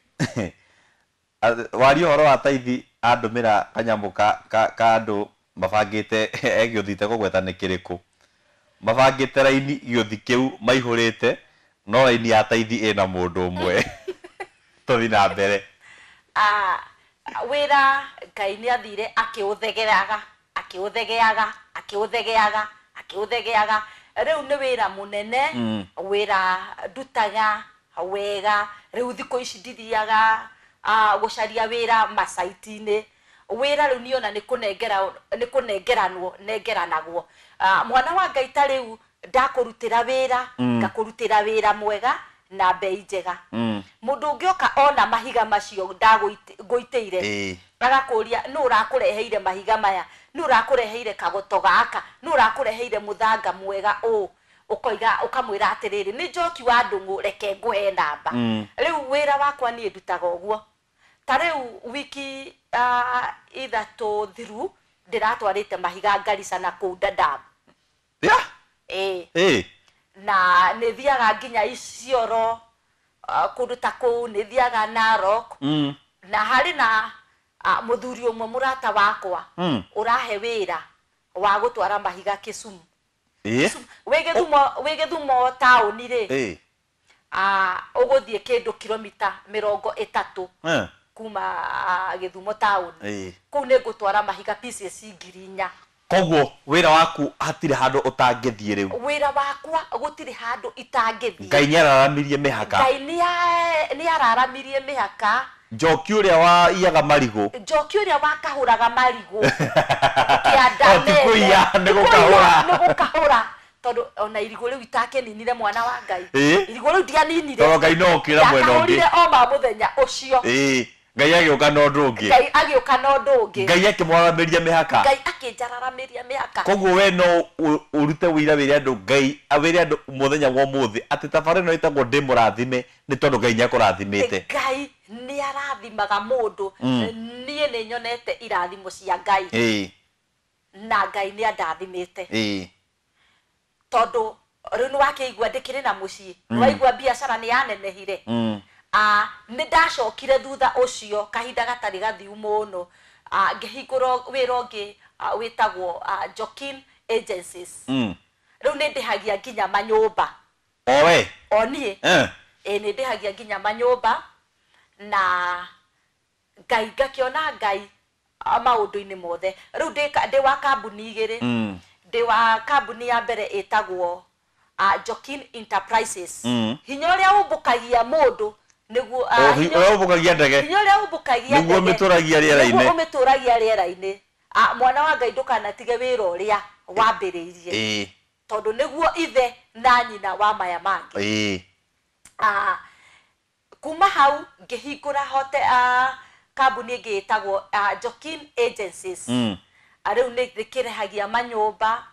waria ũhoro wa taithi andũmĩra kanyamũ ka andũ mabangĩte egĩũthite kũgweta nĩ kĩrĩkũ. Mabangĩte raini gĩũthi kĩu maihũrĩte, no raini ya taithi ĩna mũndũ ũmwe. Tũthiĩ na mbere. Wĩra Ngai nĩ athire akĩũthegeaga, akĩũthegeaga, akĩũthegeaga, akĩũthegeaga. Rĩu nĩ wĩra mũnene, wĩra ndutaga wega. Rĩu thikũ ici ndithiaga gũcaria wĩra macaiti-inĩ. Wĩra rĩu niona nĩ kũnengeranwo, nengeranagwo. Mwana wa Ngai ta rĩu ndakũrutĩra wĩra, ngakũrutĩra wĩra mwega na bei njega. Mũndũ ũngĩoka ona mahiga macio ngũitĩire, agakũria nũ ũrakũreheire mahiga maya, nũ ũrakũreheire kagoto gaka, nũ ũrakũreheire mũthanga mwega ũũ, ũkoiga ũkamwĩra atĩrĩrĩ, nĩ Njoki wa Ndung'u, reke ngũhe namba. Rĩu wĩra wakwa niĩ ndutaga ũguo. Ta rĩu wiki ithatũ thiru ndĩratwarĩte mahiga Garissa na kũu Dadaab. Na nĩ thiaga nginya Isiolo, kũndũ ta kũu, nĩ thiaga Narok. Na harĩ na mũthuri ũmwe mũrata wakwa ũrahe wĩra wa gũtwara mahiga Kisumu. Wĩ Gĩthumo taũni rĩ, ũgũthiĩ kĩndũ kilomita 30 kuma Gĩthumo town. Kũu nĩ ngũtwara mahiga pieces 4,000. Koguo wĩra waku hatirĩ handũ ũtangĩthiĩ rĩu. Wĩra wakwa gũtirĩ handũ itangĩthiĩ. Ngai nĩararamirie mĩhaka. Ngai nĩararamirie mĩhaka. Njoki ũrĩa waiyaga marigũ. Njoki ũrĩa wakahũraga marigũ. Kĩanda Ti kũiya, nĩ gũkahũra. Nĩ gũkahũra. Tondũ ona irigũ rĩu itakĩninire mwana wa Ngai. Irigũ rĩu ndianinire. Tondũ Ngai no okĩra mwena ũngĩ. Ndakahũrire o ma mũthenya ũcio. Ngai agĩũka na ũndũ ũngĩ. Ngai agĩũka na ũndũ ũngĩ. Ngai akĩmwararamĩria mĩhaka. Ngai akĩnjararamĩria mĩhaka. Koguo we no ũrute wĩira wĩre andũ Ngai wĩre andũ mũthenya wa ũmũthĩ atĩ tabarĩra ĩno ĩtagwo Ndĩ Mũrathime nĩ tondũ Ngai nĩakũrathimĩte. Ngai nĩarathimaga mũndũ. Niĩ nĩ nyonete irathimo cia Ngai. Na Ngai nĩandathimĩte. Tondũ rĩu nĩwakĩigua ndĩkĩrĩ na mũciĩ. Nĩwaigua biacara nĩyanenehire. Nĩ ndacokire thutha ũcio kahinda gatarĩ gathiu mũno, ngĩhingũra wĩra ũngĩ wĩtagwo Jokin Agencies. Rĩu nĩ ndĩhagia nginya manyũmba. O we? O niĩ. Nĩ ndĩhagia nginya manyũmba na Ngai ngakĩona Ngai maũndũ-inĩ mothe. Rĩu ndĩ wa kambuni igĩrĩ. Ndĩ wa kambuni ya mbere ĩtagwo Jokin Enterprises. Hinya ũrĩa ũmbũkagia mũndũ nĩguo ũrĩa ũmbũkagia ndege. Hinya ũrĩa ũmbũkagia ndege. Nĩguo ũmĩtũragia rĩera-inĩ. Nĩguo ũmĩtũragia rĩera-inĩ. Mwana wa Ngai ndũkanatige wĩra ũrĩa wambĩrĩirie. Tondũ nĩguo ithe na nyina wa maya mangĩ. Kuma hau ngĩhingũra hote kambuni ĩngĩ ĩtagwo Jokin Agencies. Rĩu nĩ ndĩkĩrĩhagia manyũmba.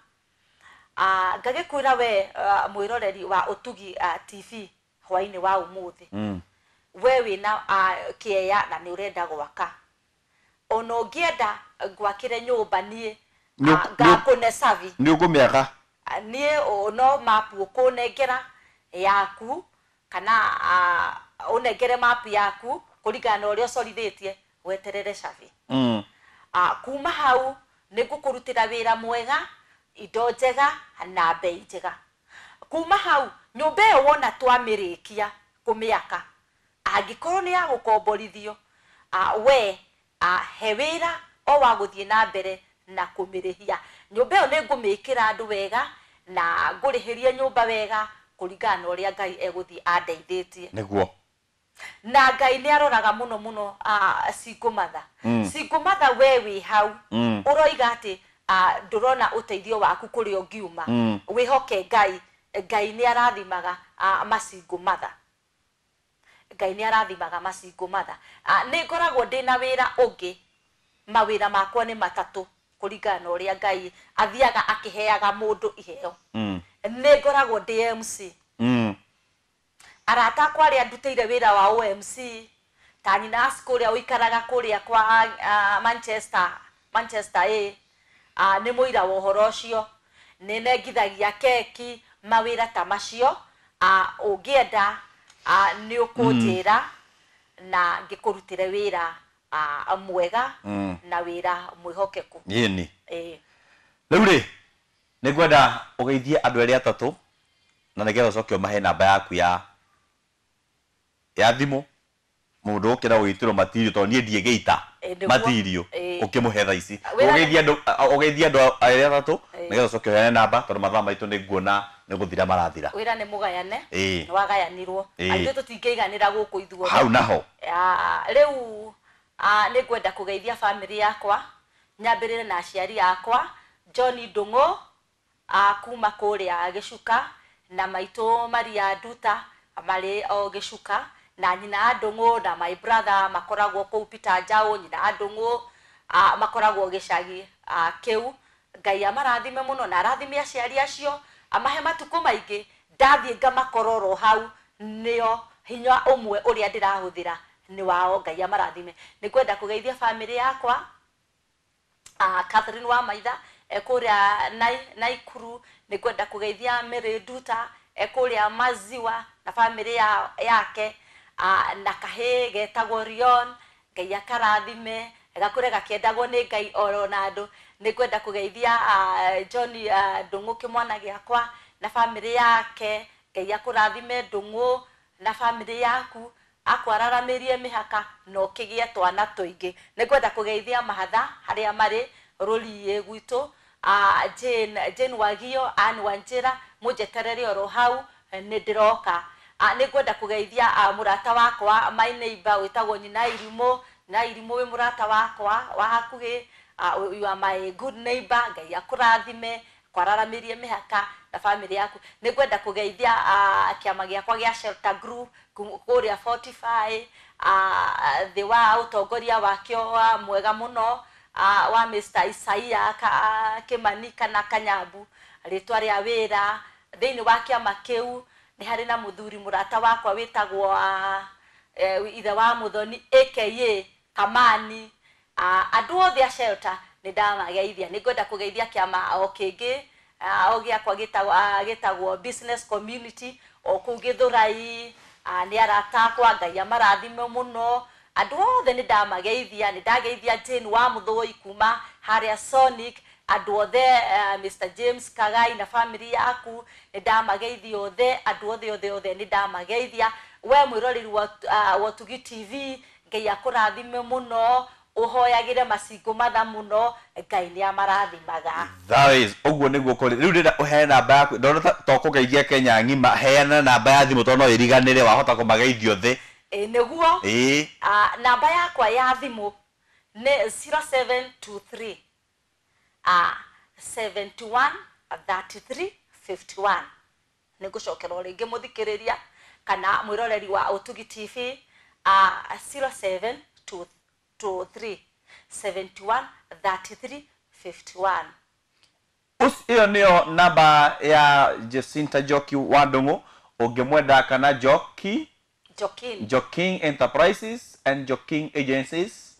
Ngagĩkwĩra we mwĩroreri wa Ũtugi TV hwainĩ wa ũmũthĩ. We wĩna kĩeya na nĩ ũrenda gwaka. Ona ũngĩenda ngwakĩre nyũmba niĩ ngakũne savi. Nĩ ũkũmĩaka? Niĩ no mapu ũkũnengera yaku kana ũnengere mapu yaku kũringana na ũrĩa ũcorithĩtie weterere savi. Kuma hau nĩ ngũkũrutĩra wĩra mwega, indo njega na bei njega. Kuma hau nyũmba ĩyo wona twamĩrĩkia kũmĩaka, angĩkorwo nĩ ya gũkomborithio, we he wĩra o wa gũthiĩ na mbere na kũmĩrĩhia. Nyũmba ĩyo nĩ ngũmĩkĩra andũ wega na ngũrĩhĩrie nyũmba wega kũringana na ũrĩa Ngai egũthiĩ andeithĩtie. Nĩguo. Na Ngai nĩ aroraga mũno mũno single mother. Single mother we wĩ hau ũroiga atĩ ndũrona ũteithio waku kũrĩa ũngiuma. Wĩhoke Ngai. Ngai nĩ arathimaga masingle mother. Ngai nĩ arathimaga masingle mother. Nĩ ngoragwo ndĩna wĩra ũngĩ. Mawĩra makwa nĩ matatũ kũringana na ũrĩa Ngai athiaga akĩheaga mũndũ iheo. Nĩ ngoragwo ndĩ MC. Arata akwa arĩa ndutĩire wĩra wa OMC ta nyina kũrĩa ũikaraga kũrĩa kwa Manchester A, nĩ mũira wa ũhoro ũcio. Nĩ nengithagia keki mawĩra ta macio. Ũngĩenda nĩ ũkũnjĩra na ngĩkũrutĩre wĩra mwega na wĩra mwĩhokeku. Yĩni. Rĩu rĩ nĩ ngwenda ũgeithie andũ erĩ atatũ na nĩgetha ũcoke ũmahe namba yaku ya thimũ mũndũ ũkĩra gũgĩtĩrwo matirio tondũ niĩ ndiĩgĩita matirio ũkĩmũhe thaa ici. Ũgeithie andũ erĩ atatũ nĩgetha ũcoke ũheane namba tondũ mathaa maitũ nĩ nguona nĩ gũthira marathira. Wĩra nĩ mũgayane, nĩ wagayanirwo. Ithuĩ tũtingĩiganĩra gũkũ ithuothe. Hau naho. Rĩu nĩ ngwenda kũgeithia bamĩrĩ yakwa, nyambĩrĩre na aciari akwa, John Ndung'u kuma kũrĩa Gĩcuka na maitũ Maria Nduta marĩ o Gĩcuka na nyina Ndung'u na my brother makoragwo kũu Peter Njaũ, nyina Ndung'u makoragwo gĩcagi kĩu. Ngai amarathime mũno na arathime aciari acio, amahe matukũ maingĩ. Ndathiĩ ngamakororo hau nĩo hinya ũmwe ũrĩa ndĩrahũthĩra nĩ wao. Ngai amarathime. Nĩ ngwenda kũgeithia bamĩrĩ yakwa, Catherine wa Maitha kũrĩa Naikuru. Nĩ ngwenda kũgeithia Mary Nduta kũrĩa Maziwa na bamĩrĩ yake, na kahĩĩ getagwo Rion. Ngai akarathime gakũre gakĩendagwo nĩ Ngai oro na andũ. Nĩ ngwenda kũgeithia John Ndung'u kĩmwana gĩakwa na bamĩrĩ yake. Ngai akũrathime Ndung'u na bamĩrĩ yaku. Akwararamirie mĩhaka na ũkĩgĩe twana tũingĩ. Nĩngwenda kũgeithia mahatha harĩa marĩ rũriĩ gwitũ, Jane, Jane Wagio, Ann Wanjĩra, mũnjeterere oro hau nĩ ndĩroka. Nĩngwenda kũgeithia mũrata wakwa my neighbor wĩtagwo Nyina Irimũ. Nyina Irimũ wĩ mũrata wakwa wa hakuhĩ, you are my good neighbor. Ngai akũrathime, kwararamirie mĩhaka na family yaku. Nĩngwenda kũgeithia kĩama gĩakwa gĩa Shelter Group kũrĩa Fortify, thĩ wa ũtongoria wakĩo wa mwega mũno, wa Mr. Isaia Kimani kana Kanyambu rĩtwa rĩa wĩra. Thĩinĩ wa kĩama kĩu nĩ harĩ na mũthuri mũrata wakwa wĩtagwo ithe wa Mũthoni aka Kamani. Andũ othe a Shelter nĩ ndamageithia. Nĩngwenda kũgeithia kĩama o kĩngĩ, o gĩakwa gĩtagwo Business Community o kũu Gĩthũrai. Nĩ arata akwa, Ngai amarathime mũno. Andũ othe nĩ ndamageithia. Nĩ ndageithia Jane wa Mũthũi kuma harĩa Sonic, andũ othe, Mr. James Kagai na family yaku nĩ ndamageithia othe, andũ othe othe othe nĩ ndamageithia. We mwĩroreri wa Ũtugi TV, Ngai akũrathime mũno, ũhoyagĩre macingũ matha mũno, Ngai nĩ amarathimaga. That is ũguo nĩguo kũrĩ. Rĩu ndĩrenda ũheane namba yaku, ndona to kũgeithia Kenya ng'ima, heana namba ya thimũ tondũ no ĩriganĩre, wahota kũmageithia othe. Ĩ nĩguo. Ĩĩ. Namba yakwa ya thimũ nĩ 0723 71 33 51. Nĩngũcokera o rĩngĩ mũthikĩrĩria kana mwĩroreri wa Ũtugi TV, 0723 71 33 51. Ĩyo nĩyo namba ya Jacinta Njoki wa Ndung'u, ũngĩmwenda kana Njoki Joking. Joking Enterprises and Joking Agencies,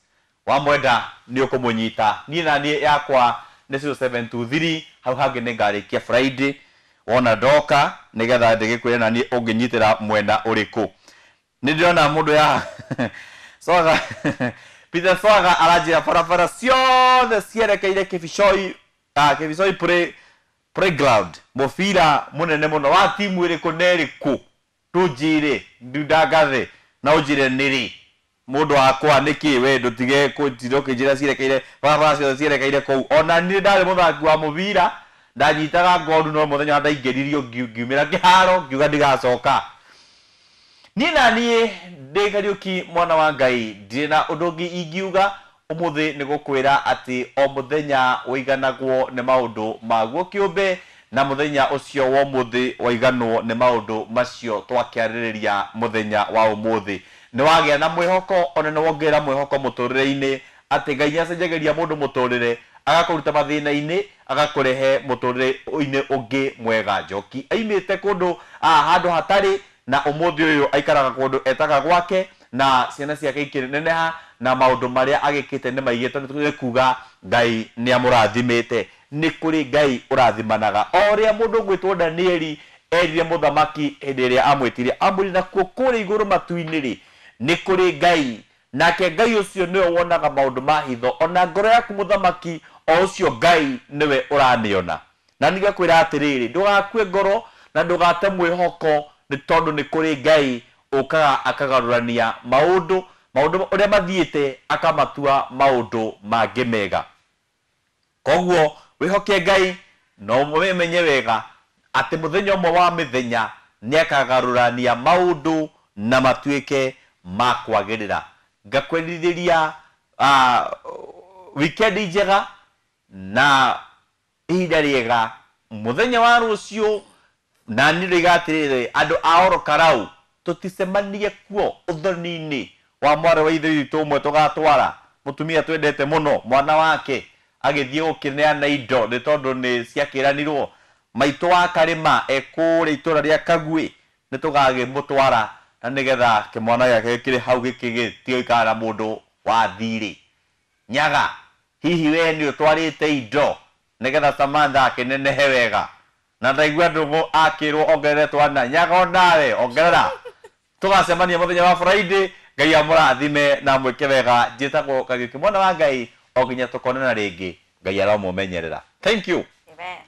wamwenda nĩ ũkũmũnyita. Niĩ na niĩ yakwa nĩ 0723, hau hangĩ nĩ ngarĩkia Friday wona ndoka nĩgetha ndĩgĩkwĩre na niĩ ũngĩnyitĩra mwena ũrĩkũ. Nĩ ndĩrona mũndũ ya Swaga Peter Swaga aranjĩra barabara ciothe cierekeire Kibicoi, Kibicoi playground, mũbira mũnene mũno wa timu ĩrĩkũ na ĩrĩkũ, tũnjĩre ndundangathe na ũnjĩre nĩrĩ mũndũ wakwa nĩkĩ we ndũtige kũnjĩra ũkĩnjĩra cierekeire barabara ciothe cierekeire kũu. Ona niĩ ndarĩ mũthaki wa mũbira, ndanyitaga ngoru, no mũthenya ndaingĩririo ngiumĩra kĩharo ngiuga ndigacoka. Niĩ na niĩ ndĩ Kariũki mwana wa Ngai, ndirĩ na ũndũ ũngĩ ingiuga ũmũthĩ nĩ gũkwĩra atĩ o mũthenya ũiganagwo nĩ maũndũ maguo kĩũmbe, na mũthenya ũcio wa ũmũthĩ waiganwo nĩ maũndũ macio twakĩarĩrĩria mũthenya wa ũmũthĩ. Nĩ wagĩa na mwĩhoko, ona nĩ wongerera mwĩhoko mũtũrĩre-inĩ atĩ Ngai nĩacenjagĩria mũndũ mũtũrĩre, agakũruta mathĩna-inĩ, agakũrehe mũtũrĩre-inĩ ũngĩ mwega. Njoki aimĩte kũndũ, handũ hatarĩ, na ũmũthĩ ũyũ aikaraga kũndũ etaga gwake, na ciana ciake ikĩneneha, na maũndũ marĩa agĩkĩte nĩ maingĩ, tondũ nĩ kuga Ngai nĩ amũrathimĩte. Nĩ kũrĩ Ngai ũrathimanaga. O ũrĩa mũndũ ũgwĩtwo Danieli erire mũthamaki hĩndĩ ĩrĩa amwĩtire, amwĩrire nakuo kũrĩa igũrũ matu-inĩ rĩ, nĩ kũrĩ Ngai, nake Ngai ũcio nĩwe wonaga maũndũ ma hitho, ona ngoro yaku mũthamaki, o ũcio Ngai nĩwe ũramĩona. Na nĩngakwĩra atĩrĩrĩ, ndũgakue ngoro na ndũgate mwĩhoko, nĩ tondũ nĩ kũrĩ Ngai ũkaga akagarũrania maũndũ, maũndũ ũrĩa mathiĩte akamatua maũndũ mangĩ mega. Koguo wĩhoke Ngai na ũmenye wega atĩ mũthenya ũmwe wa mĩthenya nĩakagarũrania maũndũ na matuĩke ma kwagĩrĩra. Ngakwendithĩria weekend njega na ihinda rĩega mũthenya wa rũciũ. Na niĩ ndoiga atĩrĩrĩ, andũ a Oro Karau tũticemanie kuo ũthoni-inĩ wa mwarĩ wa ithe witũ ũmwe tũgatwara mũtumia twendete mũno, mwana wake agĩthiĩ gũkĩneana indo nĩ tondũ nĩ ciakĩranirwo. Maitũ wa Karĩma e kũrĩa itũra rĩa Kagui, nĩ tũgagĩmũtwara na nĩgetha kĩmwana gĩake kĩrĩ hau gĩkĩgĩtige gũikara na mũndũ wa thirĩ. Nyaga, hihi we nĩ ũtwarĩte indo nĩgetha Samantha akĩnenehe wega? Na ndaigua Ndũng'ũ akĩrwo ongerere twana. Nyaga onawe ongerera. Tũgacemania mũthenya wa Friday. Ngai amũrathime na amwĩke wega. Njĩtagwo Kariũki mwana wa Ngai, o nginya tũkonana rĩngĩ. Ngai aromũmenyerera. Thank you. Amen.